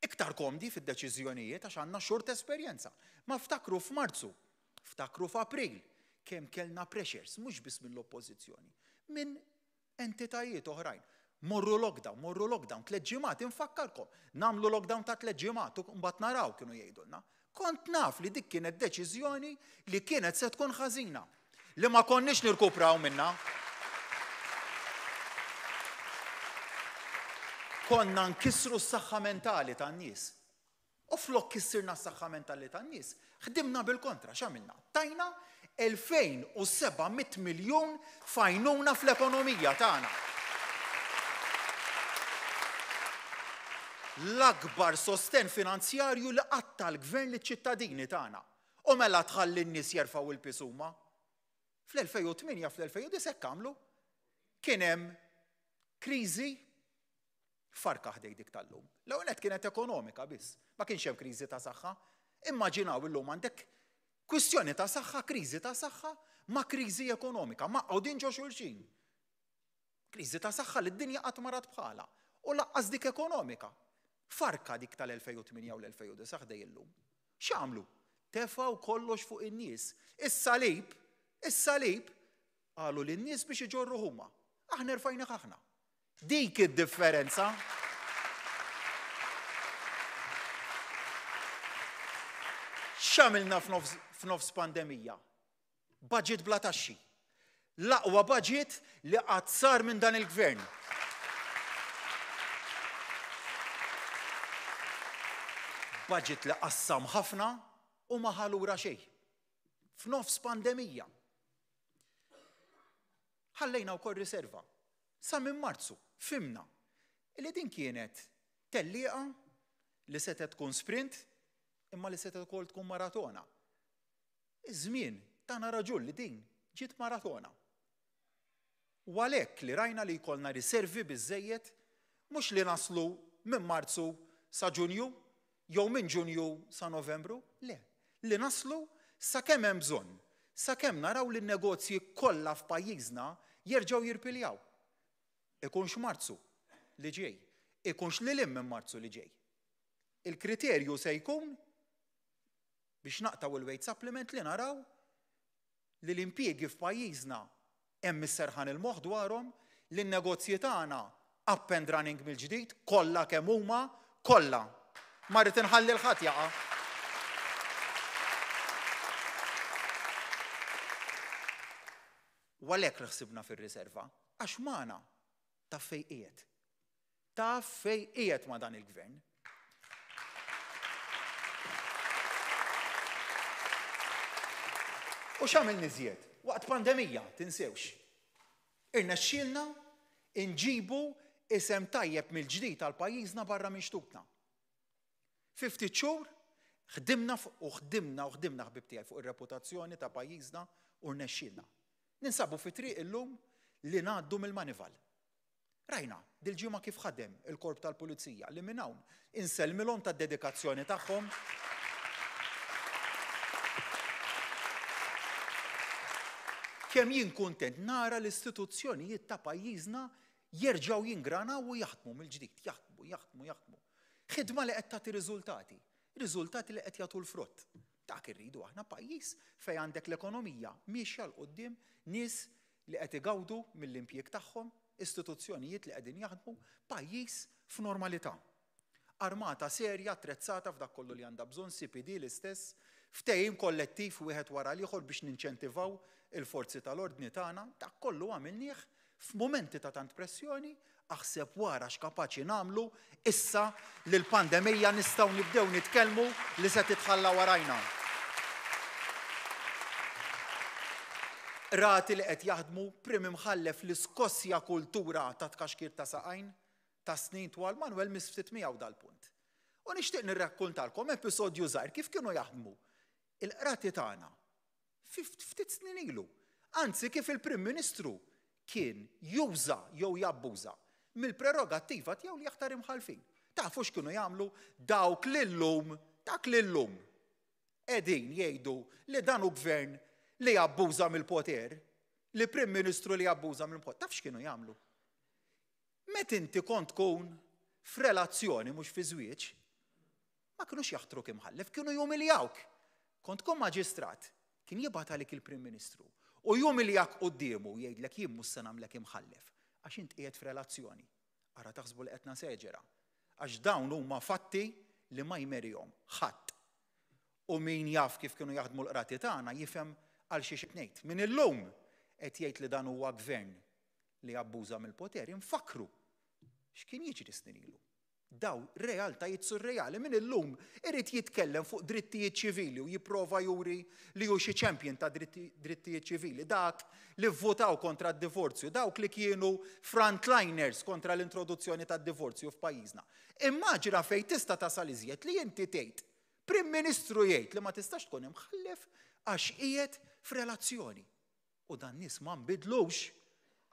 iktar komdi fid-deċiżjonijiet għax għandna xhur t'esperjenza. Ma ftakru f'Marzu, ftakru f'April, kemm kellna pressures, mhux biss mill-Oppożizzjoni, minn entitajiet oħrajn. Morru lockdown, morru lockdown, tliet ġimgħat, infakkarkom, nagħmlu lockdown ta' tliet ġimgħat u mbagħad naraw kienu jgħidulna. Kont naf li dik kienet deċiżjoni li kienet se tkun ħażina, li ma konniex nirkupraw minnha. Konna nkissru s-saħħa mentali tan-nies. U flok kissirna s-saħħa mentali tan-nies, ħdimna bil-kontra, x'għamilna? Tajna 2,700 miljun f'għajnuna fl-ekonomija tagħna. L-akbar sostenn finanzjarju li qatt ta l-Gvern liċ-ċittadini tagħna. U mela tħalli n-nies jerfgħu l-piż huma? Fl-2008, fl-2009 hekk għamlu. Kien hemm kriżi Farka ħdej dik tal-lum. L-ewwel nett kienet ekonomika biss, ma kienx hemm kriżi ta' saħħa. Immaġinaw illum għandek kwistjoni ta' saħħa, kriżi ta' saħħa ma' kriżi ekonomika, maqgħudin ġo xulxin. Kriżi ta' saħħa li d-dinja qatt ma rat bħalha u laqqas dik ekonomika. Farka dik tal-2008 u l-2009 ħdej illum. X'għamlu? Tefgħu kollox fuq in-nies. Is-salib, is-salib, qalu lin-nies biex iġorruh huma. Aħna rfajnih aħna. Dik id-differenza. X'għamilna f'nofs pandemija? Budget bla taxxi. L-aqwa budget li qatt sar minn dan il-gvern. Budget li qassam ħafna u ma ħa lura xejn. F'nofs pandemija. Ħallejna wkoll riserva. Sa minn Marzu fhimna li din kienet tellieqa li setgħet tkun sprint imma li setgħet ukoll tkun maratona. Iż-żmien tana raġun li din ġiet maratona. U għalhekk li rajna li jkollna riservi biżżejjed mhux li naslu minn Marzu sa Ġunju jew minn Ġunju sa Novembru, le, li naslu sakemm hemm bżonn, sakemm naraw li n-negozji kollha f'pajjiżna jerġgħu jirpiljaw. Ikunx Marzu li ġej, ikunx lil hinn minn Marzu li ġej. Il-kriterju se jkun biex naqtgħu il-wage supplement li naraw li l-impjiegi f'pajjiżna Hemm is-serħan il-moħħ dwarhom li n-negozji tagħna up and running mill-ġdid, kollha kemm huma, kollha. Ma rrid inħalli 'l ħadd jaqa'. U għalhekk li ħsibna fir-riserva, għax magħna taf fejn qiegħed. Taf fejn qiegħed ma' dan il-gvern. U x'għamilni iżjed? Waqt pandemija, tinsewx. Irnexxielna nġibu isem tajjeb mill-ġdid għal pajjiżna barra minn xtutna. Fi ftit xhur ħdimna u ħdimna u ħdimna ħbib tiegħi fuq ir-reputazzjoni ta' pajjiżna u rnexxielna. Ninsabu fi triq illum li ngħaddu mill-manival. Rajna dil-ġimgħa kif ħadem il-Korp tal-Pulizija li minn hawn insellmilhom tad-dedikazzjoni tagħhom. Kemm jien kuntent nara l-istituzzjonijiet ta' pajjiżna jerġgħu jingranaw u jaħdmu mill-ġdid, jaħdmu, jaħdmu, jaħdmu. Ħidma li qed tagħti riżultati, riżultati li qed jagħtu l-frott. Dak irridu aħna pajjiż fejn għandek l-ekonomija miexja 'l quddiem, nies li qed igawdu mill-impjieg tagħhom, istituzzjonijiet li qegħdin jaħdmu, pajjiż f'normalità. Armata serja attrezzata f'dak kollu li għandha bżonn, CPD l-istess, ftehim kollettiv wieħed wara l-ieħor biex ninċentivaw il-forzi tal-ordni tagħna, dak kollu għamilnieh F'mumenti ta' tant pressjoni, aħseb wara x'kapaċi nagħmlu issa li l-pandemija nistgħu nibdew nitkellmu li se titħalla warajna. Qrati li qed jaħdmu, Prim Imħallef li skossja kultura ta' tkaxkir ta' saqajn ta' snin twal, Manuel miss ftit miegħu dal-punt. U nixtieq nirrakkuntalkom episodju żgħir kif kienu jaħdmu il-qrati tagħna Fi ftit snin ilu. Anzi kif il-Prim Ministru kien juża jew jabbuża mill-prerogattiva tiegħu li jaħtar imħallfin. Tafu x'kienu jagħmlu dawk li llum, dak li llum qegħdin jgħidu li dan hu gvern li jabbuża mill-poter, li Prim Ministru li jabbuża mill-poter. Taf x'kienu jagħmlu? Meta inti kont tkun f'relazzjoni mhux fi żwieġ, Ma kinux jaħtruk imħallef, kienu jumiljawk. Kont tkun maġistrat, kien jibgħat għalik il-Prim Ministru u jumiljak quddiemu u jgħidlek jien mhux se nagħmlek imħallef għax int qiegħed f'relazzjoni. Ara taħsbu li qed naseġera. Għax dawn huma fatti li ma jmerihom ħadd. U min jaf kif kienu jaħdmu l-qrati tagħna jifhem għal xiex qed ngħid. Min illum qed jgħid li dan huwa gvern li abbuża mill-poter, infakkru x'kien jiġri snin ilu. Dawn realtajiet surreali. Min illum irid jitkellem fuq drittijiet ċivili u jipprova juri li hu xi champion ta' drittijiet ċivili, dak li vvutaw kontra d-divorzju, dawk li kienu frontliners kontra l-introduzzjoni tad-divorzju f'pajjiżna. Immaġina fejn tista' tasal iżjed li inti tgħid, Prim Ministru jgħid li ma tistax tkun imħallef għax qiegħed f'relazzjoni. U dan nies ma nbidlux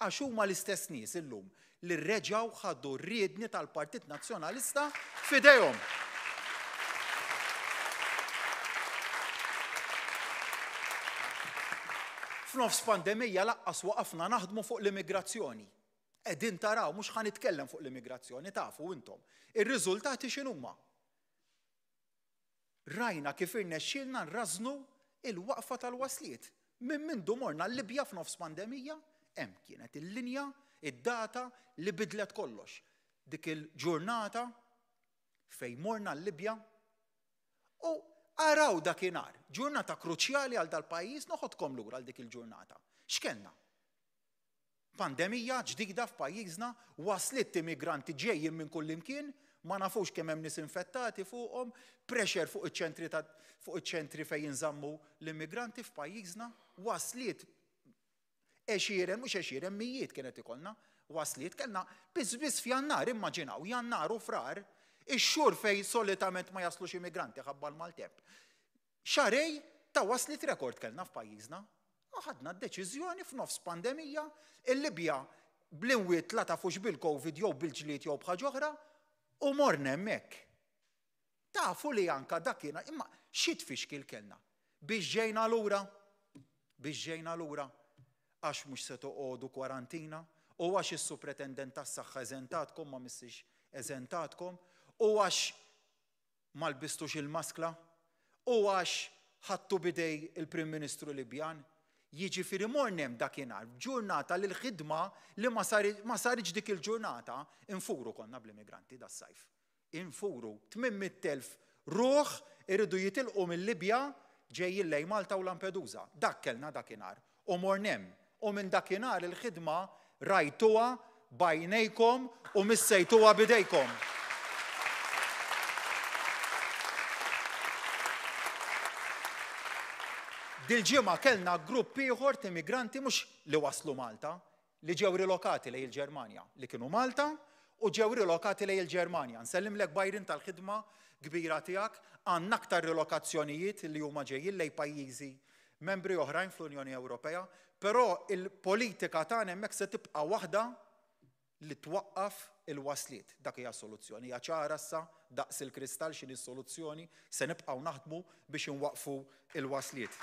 għax huma l-istess nies illum li reġgħu ħadu r-riedni tal-Partit Nazzjonalista f'idejhom. F'nofs pandemija laqqas waqafna naħdmu fuq l-immigrazzjoni. Qegħdin taraw, mhux ħa nitkellem fuq l-immigrazzjoni, tafu intom. Ir-riżultati x'inhuma? Rajna kif irnexxielna nrażżnu l-waqfa tal-wasliet. Minn mindu morna l-Libja f'nofs pandemija, hemm kienet il-linja, id-data li bidlet kollox. Dik il-ġurnata fejn morna l-Libja u araw dakinhar, ġurnata kruċjali għal dal-pajjiż, noħodkom lura għal dik il-ġurnata. X'kellna? Pandemija ġdida f'pajjiżna, wasliet immigranti ġejjin minn kullimkien, ma nafux kemm hemm nies infettati fuqhom, pressure fuq iċ-ċentri ta' fuq iċ-ċentri fejn jinżammu l-immigranti f'pajjiżna, wasliet għexieren, mhux għexieren, mijiet kien qed ikollna wasliet, kellna biss biss f'Jannar, immaġinaw, Jannar u Frar, ix-xhur fejn solitament ma jaslux immigranti ħabba l-maltemp. Xahrejn ta' wasliet rekord kellna f'pajjiżna. U ħadna d-deċiżjoni f'nofs pandemija, il-Libja bl-imwiet la tafux bil-Covid jew bil-ġlied jew b'ħaġa oħra, u morna hemmhekk. Tafu li anka dakinhar, imma xi tfixkil kellna? Biex ġejna lura, biex ġejna lura, għax mhux se toqogħdu kwarantina, u għax is-Supretendent tas-Saħħa eżentatkom ma missiex eżentatkom, u għax ma lbistux il-maskla? U għax ħadtu b'idej il-Prim Ministru Libjan? Jiġifieri morna hemm dakinhar, ġurnata li l-ħidma li ma saritx dik il-ġurnata, infuru konna bl-immigranti das-sajf. Infuru, 800,000 ruħ iridu jitilqu mil-Libja ġejjin lejn Malta u Lampedusa. Dak kellna dakinhar. U morna hemm. U minn dakinhar il-ħidma rajtuha b'għajnejkom u missejtuha b'idejkom. Dil-ġimgħa kellna grupp ieħor t'immigranti mhux li waslu Malta, li ġew rilokati lejn il-Ġermanja, li kienu Malta u ġew rilokati lejn il-Ġermanja. Nsellimlek Byron tal-ħidma kbira tiegħek, għandna aktar rilokazzjonijiet li huma ġejjin lejn pajjiżi membri oħrajn fl-Unjoni Ewropea, però il-politika tagħna hemmhekk se tibqa' waħda li twaqqaf il-wasliet. Dak hija s-soluzzjoni. Hija ċara issa daqs il-kristall x'inhi s-soluzzjoni, se nibqgħu naħdmu biex inwaqqfu l-wasliet.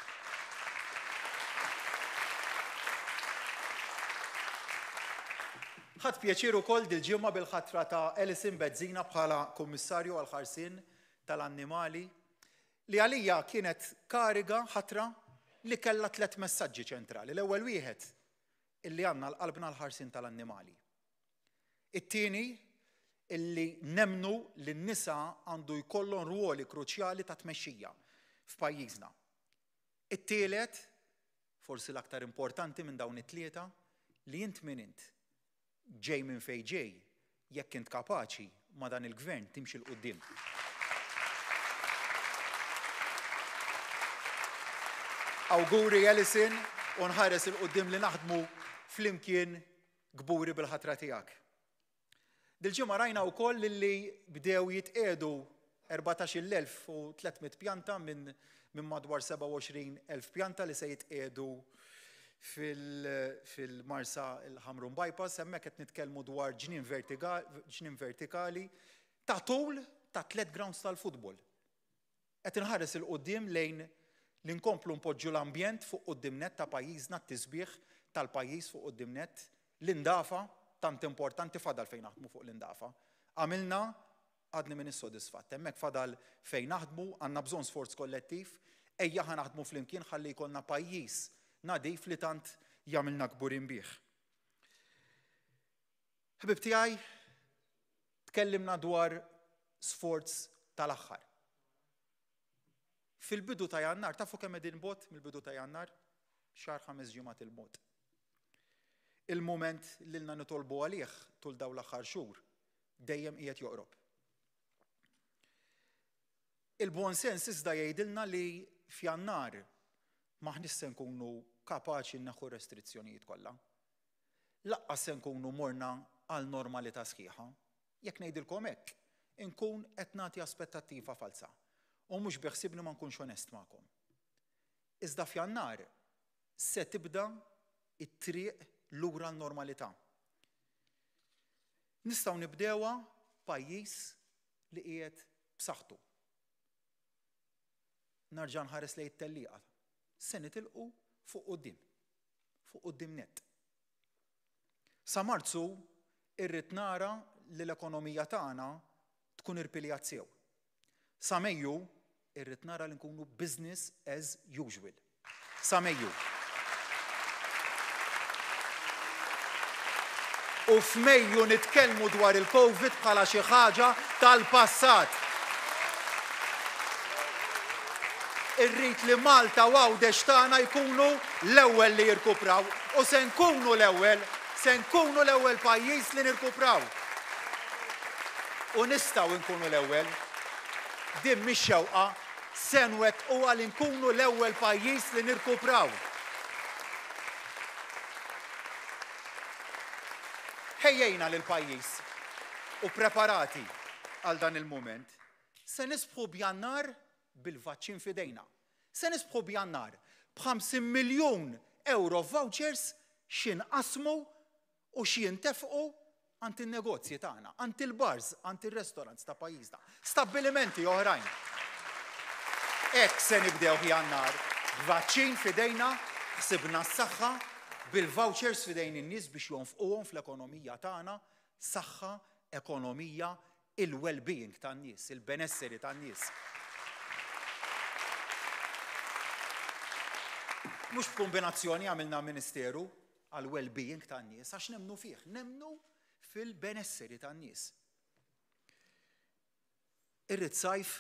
Ħadt pjaċir ukoll dil-ġimgħa bil-ħatra ta' Alison Bezzina bħala Kummissarju għall-Ħarsien tal-Annimali, li għalija kienet kariga, ħatra, li kellha tlett messaġġi ċentrali. L-ewwel wieħed, illi għandna għal qalbna l-ħarsien tal-annimali. It-tieni, illi nemmnu li n-nisa għandu jkollhom rwoli kruċjali ta' tmexxija f'pajjiżna. It-tielet, forsi l-aktar importanti minn dawn it-tlieta, li int min int, ġej minn fejn ġej, jekk int kapaċi, ma' dan il-Gvern timxi 'l quddiem. Awguri Alison u nħares 'il quddiem li naħdmu flimkien kburi bil-ħatra tiegħek. Dil-ġimgħa rajna wkoll li bdew jitqiegħdu 14,300 pjanta minn minn madwar 27,000 pjanta li se jitqiegħdu fil-Marsa il-Ħamrun Bypass, hemmhekk qed nitkellmu dwar ġnien vertikali ta' tul ta' tliet grounds tal-futbol. Qed inħares 'il quddiem lejn li nkomplu npoġġu l-ambjent fuq quddiem nett ta' pajjiżna, t-tisbiħ tal-pajjiż fuq quddiem nett, l-indafa tant importanti fadal fejn naħdmu fuq l-indafa. Għamilna, għadni m'iniex sodisfatt. Hemmhekk fadal fejn naħdmu, għandna bżonn sforz kollettiv, ejja ħa naħdmu flimkien ħalli jkollna pajjiż nadif li tant jagħmilna kburin bih. Ħbieb tiegħi, tkellimna dwar sforz tal-aħħar. Fil-bidu ta' Jannar, tafu kemm qegħdin bogħod mill-bidu ta' Jannar? Xahar ħames ġimgħat 'il bogħod. Il-mument li lna nitolbu għalih tul dawn l-aħħar xhur dejjem qiegħed joqrob. Il-buon sens iżda jgħidilna li f'Jannar m'aħniex se nkunu kapaċi nneħħu r-restrizzjonijiet kollha. Laqqas se nkunu morna għal normalità sħiħa. Jekk ngħidilkom hekk, inkun qed nagħti aspettattiva falza u mhux biħsiebni ma nkunx onest magħkom. Iżda f'Jannar se tibda t-triq lura n-normalità. Nistgħu nibdewha pajjiż li qiegħed b'saħħtu. Narġa' nħares lejn it-tellieqa. Se nitilqu fuq quddiem. Fuq quddiem nett. Sa Marzu irrid nara li l-ekonomija tagħna tkun irpiljat sew. Sa Mejju irrid nara li nkunu business as usual. Sa Mejju. U f'Mejju nitkellmu dwar il-Covid bħala xi ħaġa tal-passat. Irrid li Malta u Għawdex tagħna jkunu l-ewwel li jirkupraw u se nkunu l-ewwel, se nkunu l-ewwel pajjiż li nirkupraw. U nistgħu nkunu l-ewwel. Din mhix xewqa, se nwettquha li nkunu l-ewwel pajjiż li nirkupraw. Ħejjejna lill-pajjiż u preparati għal dan il-mument. Se nisbħu b'Jannar bil-vaċċin f'idejna. Se nisbħu b'Jannar b'50 miljun ewro f'vouchers x'inqassmu u x'jintefqu għand in-negozji tagħna, għand il-bars, għand ir-restaurants ta' pajjiżna, stabbilimenti oħrajn. Hekk se nibdew Jannar, b'vaċċin f'idejna, ħsibna s-saħħa, bil-vouchers f'idejn in-nies biex jonfquhom fl-ekonomija tagħna, saħħa, ekonomija, il-well-being tan-nies, il-benesseri tan-nies. Mhux b'kumbinazzjoni għamilna Ministeru għall-well-being tan-nies għax nemmnu fih, nemmnu fil-benesseri tan-nies. Irrid sajf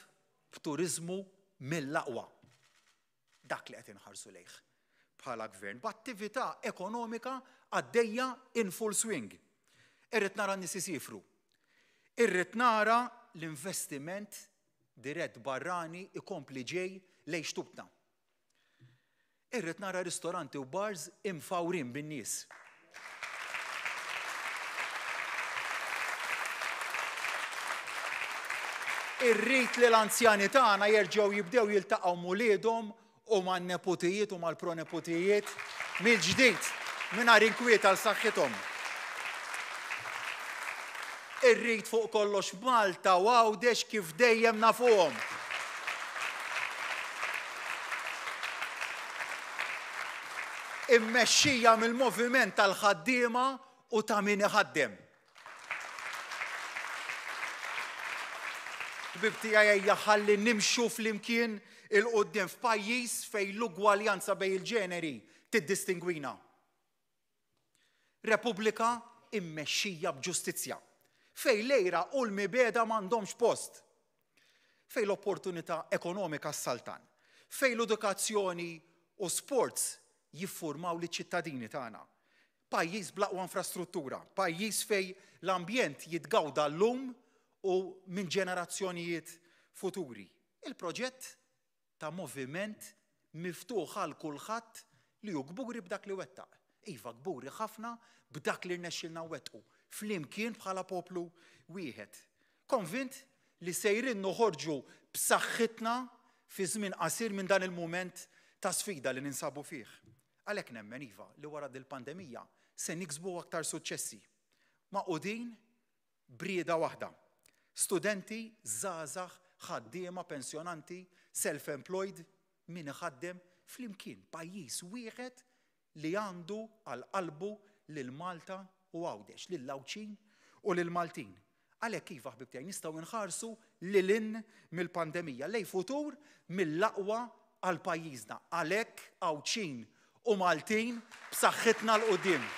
b'turiżmu mill-aqwa. Dak li qed inħarsu lejh bħala gvern, b'attività ekonomika għaddejja in full swing. Irrid nara n-nies isifru. Irrid nara l-investiment dirett barrani ikompli ġej lejn xtutna. Irrid nara ristoranti u bars imfawrin bin-nies. Irrid li l-anzjani tagħna jerġgħu jibdew jiltaqgħu m'uliedhom u man-neputijiet u mal-proneputijiet mill-ġdid mingħajr inkwiet għal saħħithom. Irrid fuq kollox Malta u Għawdex kif dejjem nafuhom. Immexxija mill-moviment tal-ħaddiema u ta' min iħaddem. Ħbieb tiegħi ejja ħalli nimxu flimkien 'il quddiem f'pajjiż fejn l-ugwaljanza bejn il-ġeneri tiddistingwina. Repubblika immexxija b'ġustizzja, fejn l-għira u l-mibegħda m'għandhomx post, fejn l-opportunità ekonomika ssaltan, fejn l-edukazzjoni u sports jiffurmaw liċ-ċittadini tagħna. Pajjiż bl-aqwa infrastruttura, pajjiż fejn l-ambjent jitgawda llum u minn ġenerazzjonijiet futuri. Il-proġett ta' moviment miftuħ għal kulħadd li hu kburi b'dak li wettaq. Iva, kburi ħafna b'dak li rnexxielna nwettqu, flimkien bħala poplu wieħed. Konvint li sejrin noħorġu b'saħħitna fi żmien qasir minn dan il-mument ta' sfida li ninsabu fih. Għalhekk nemmen, iva, li wara dil-pandemija se niksbu aktar suċċessi. Magħqudin b'rieda waħda. Studenti, żgħażagħ, ħaddiema, pensjonanti, self-employed, min iħaddem, flimkien, pajjiż wieħed li għandu għal qalbu lil Malta u Għawdex, lill-Għawdxin u lill-Maltin. Għalhekk iva ħbieb tiegħi nistgħu nħarsu lil hinn mill-pandemija, lejn futur mill-aqwa għal pajjiżna. Għalhekk Għawdxin u Maltin b'saħħitna 'l quddiem.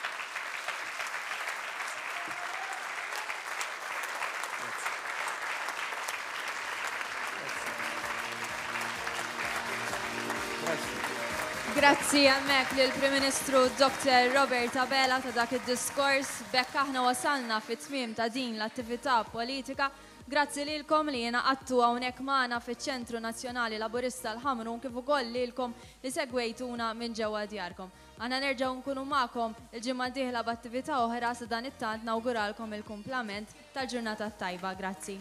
Grazzi hemmhekk lill-Prim Ministru Dr. Robert Abela ta' dak id-diskors. B'hekk aħna wasalna fit-tmiem ta' din l-attività politika. Grazzi lilkom li ingħaqadtu hawnhekk magħna fiċ-Ċentru Nazzjonali Laburista l-Ħamrun kif ukoll lilkom li segwejtuna minn ġewwa djarkom. Aħna nerġgħu nkunu magħkom il-ġimgħa d-dieħla b'attività oħra sadanittant nawguralkom il-kumplament tal-ġurnata t-tajba. Grazzi.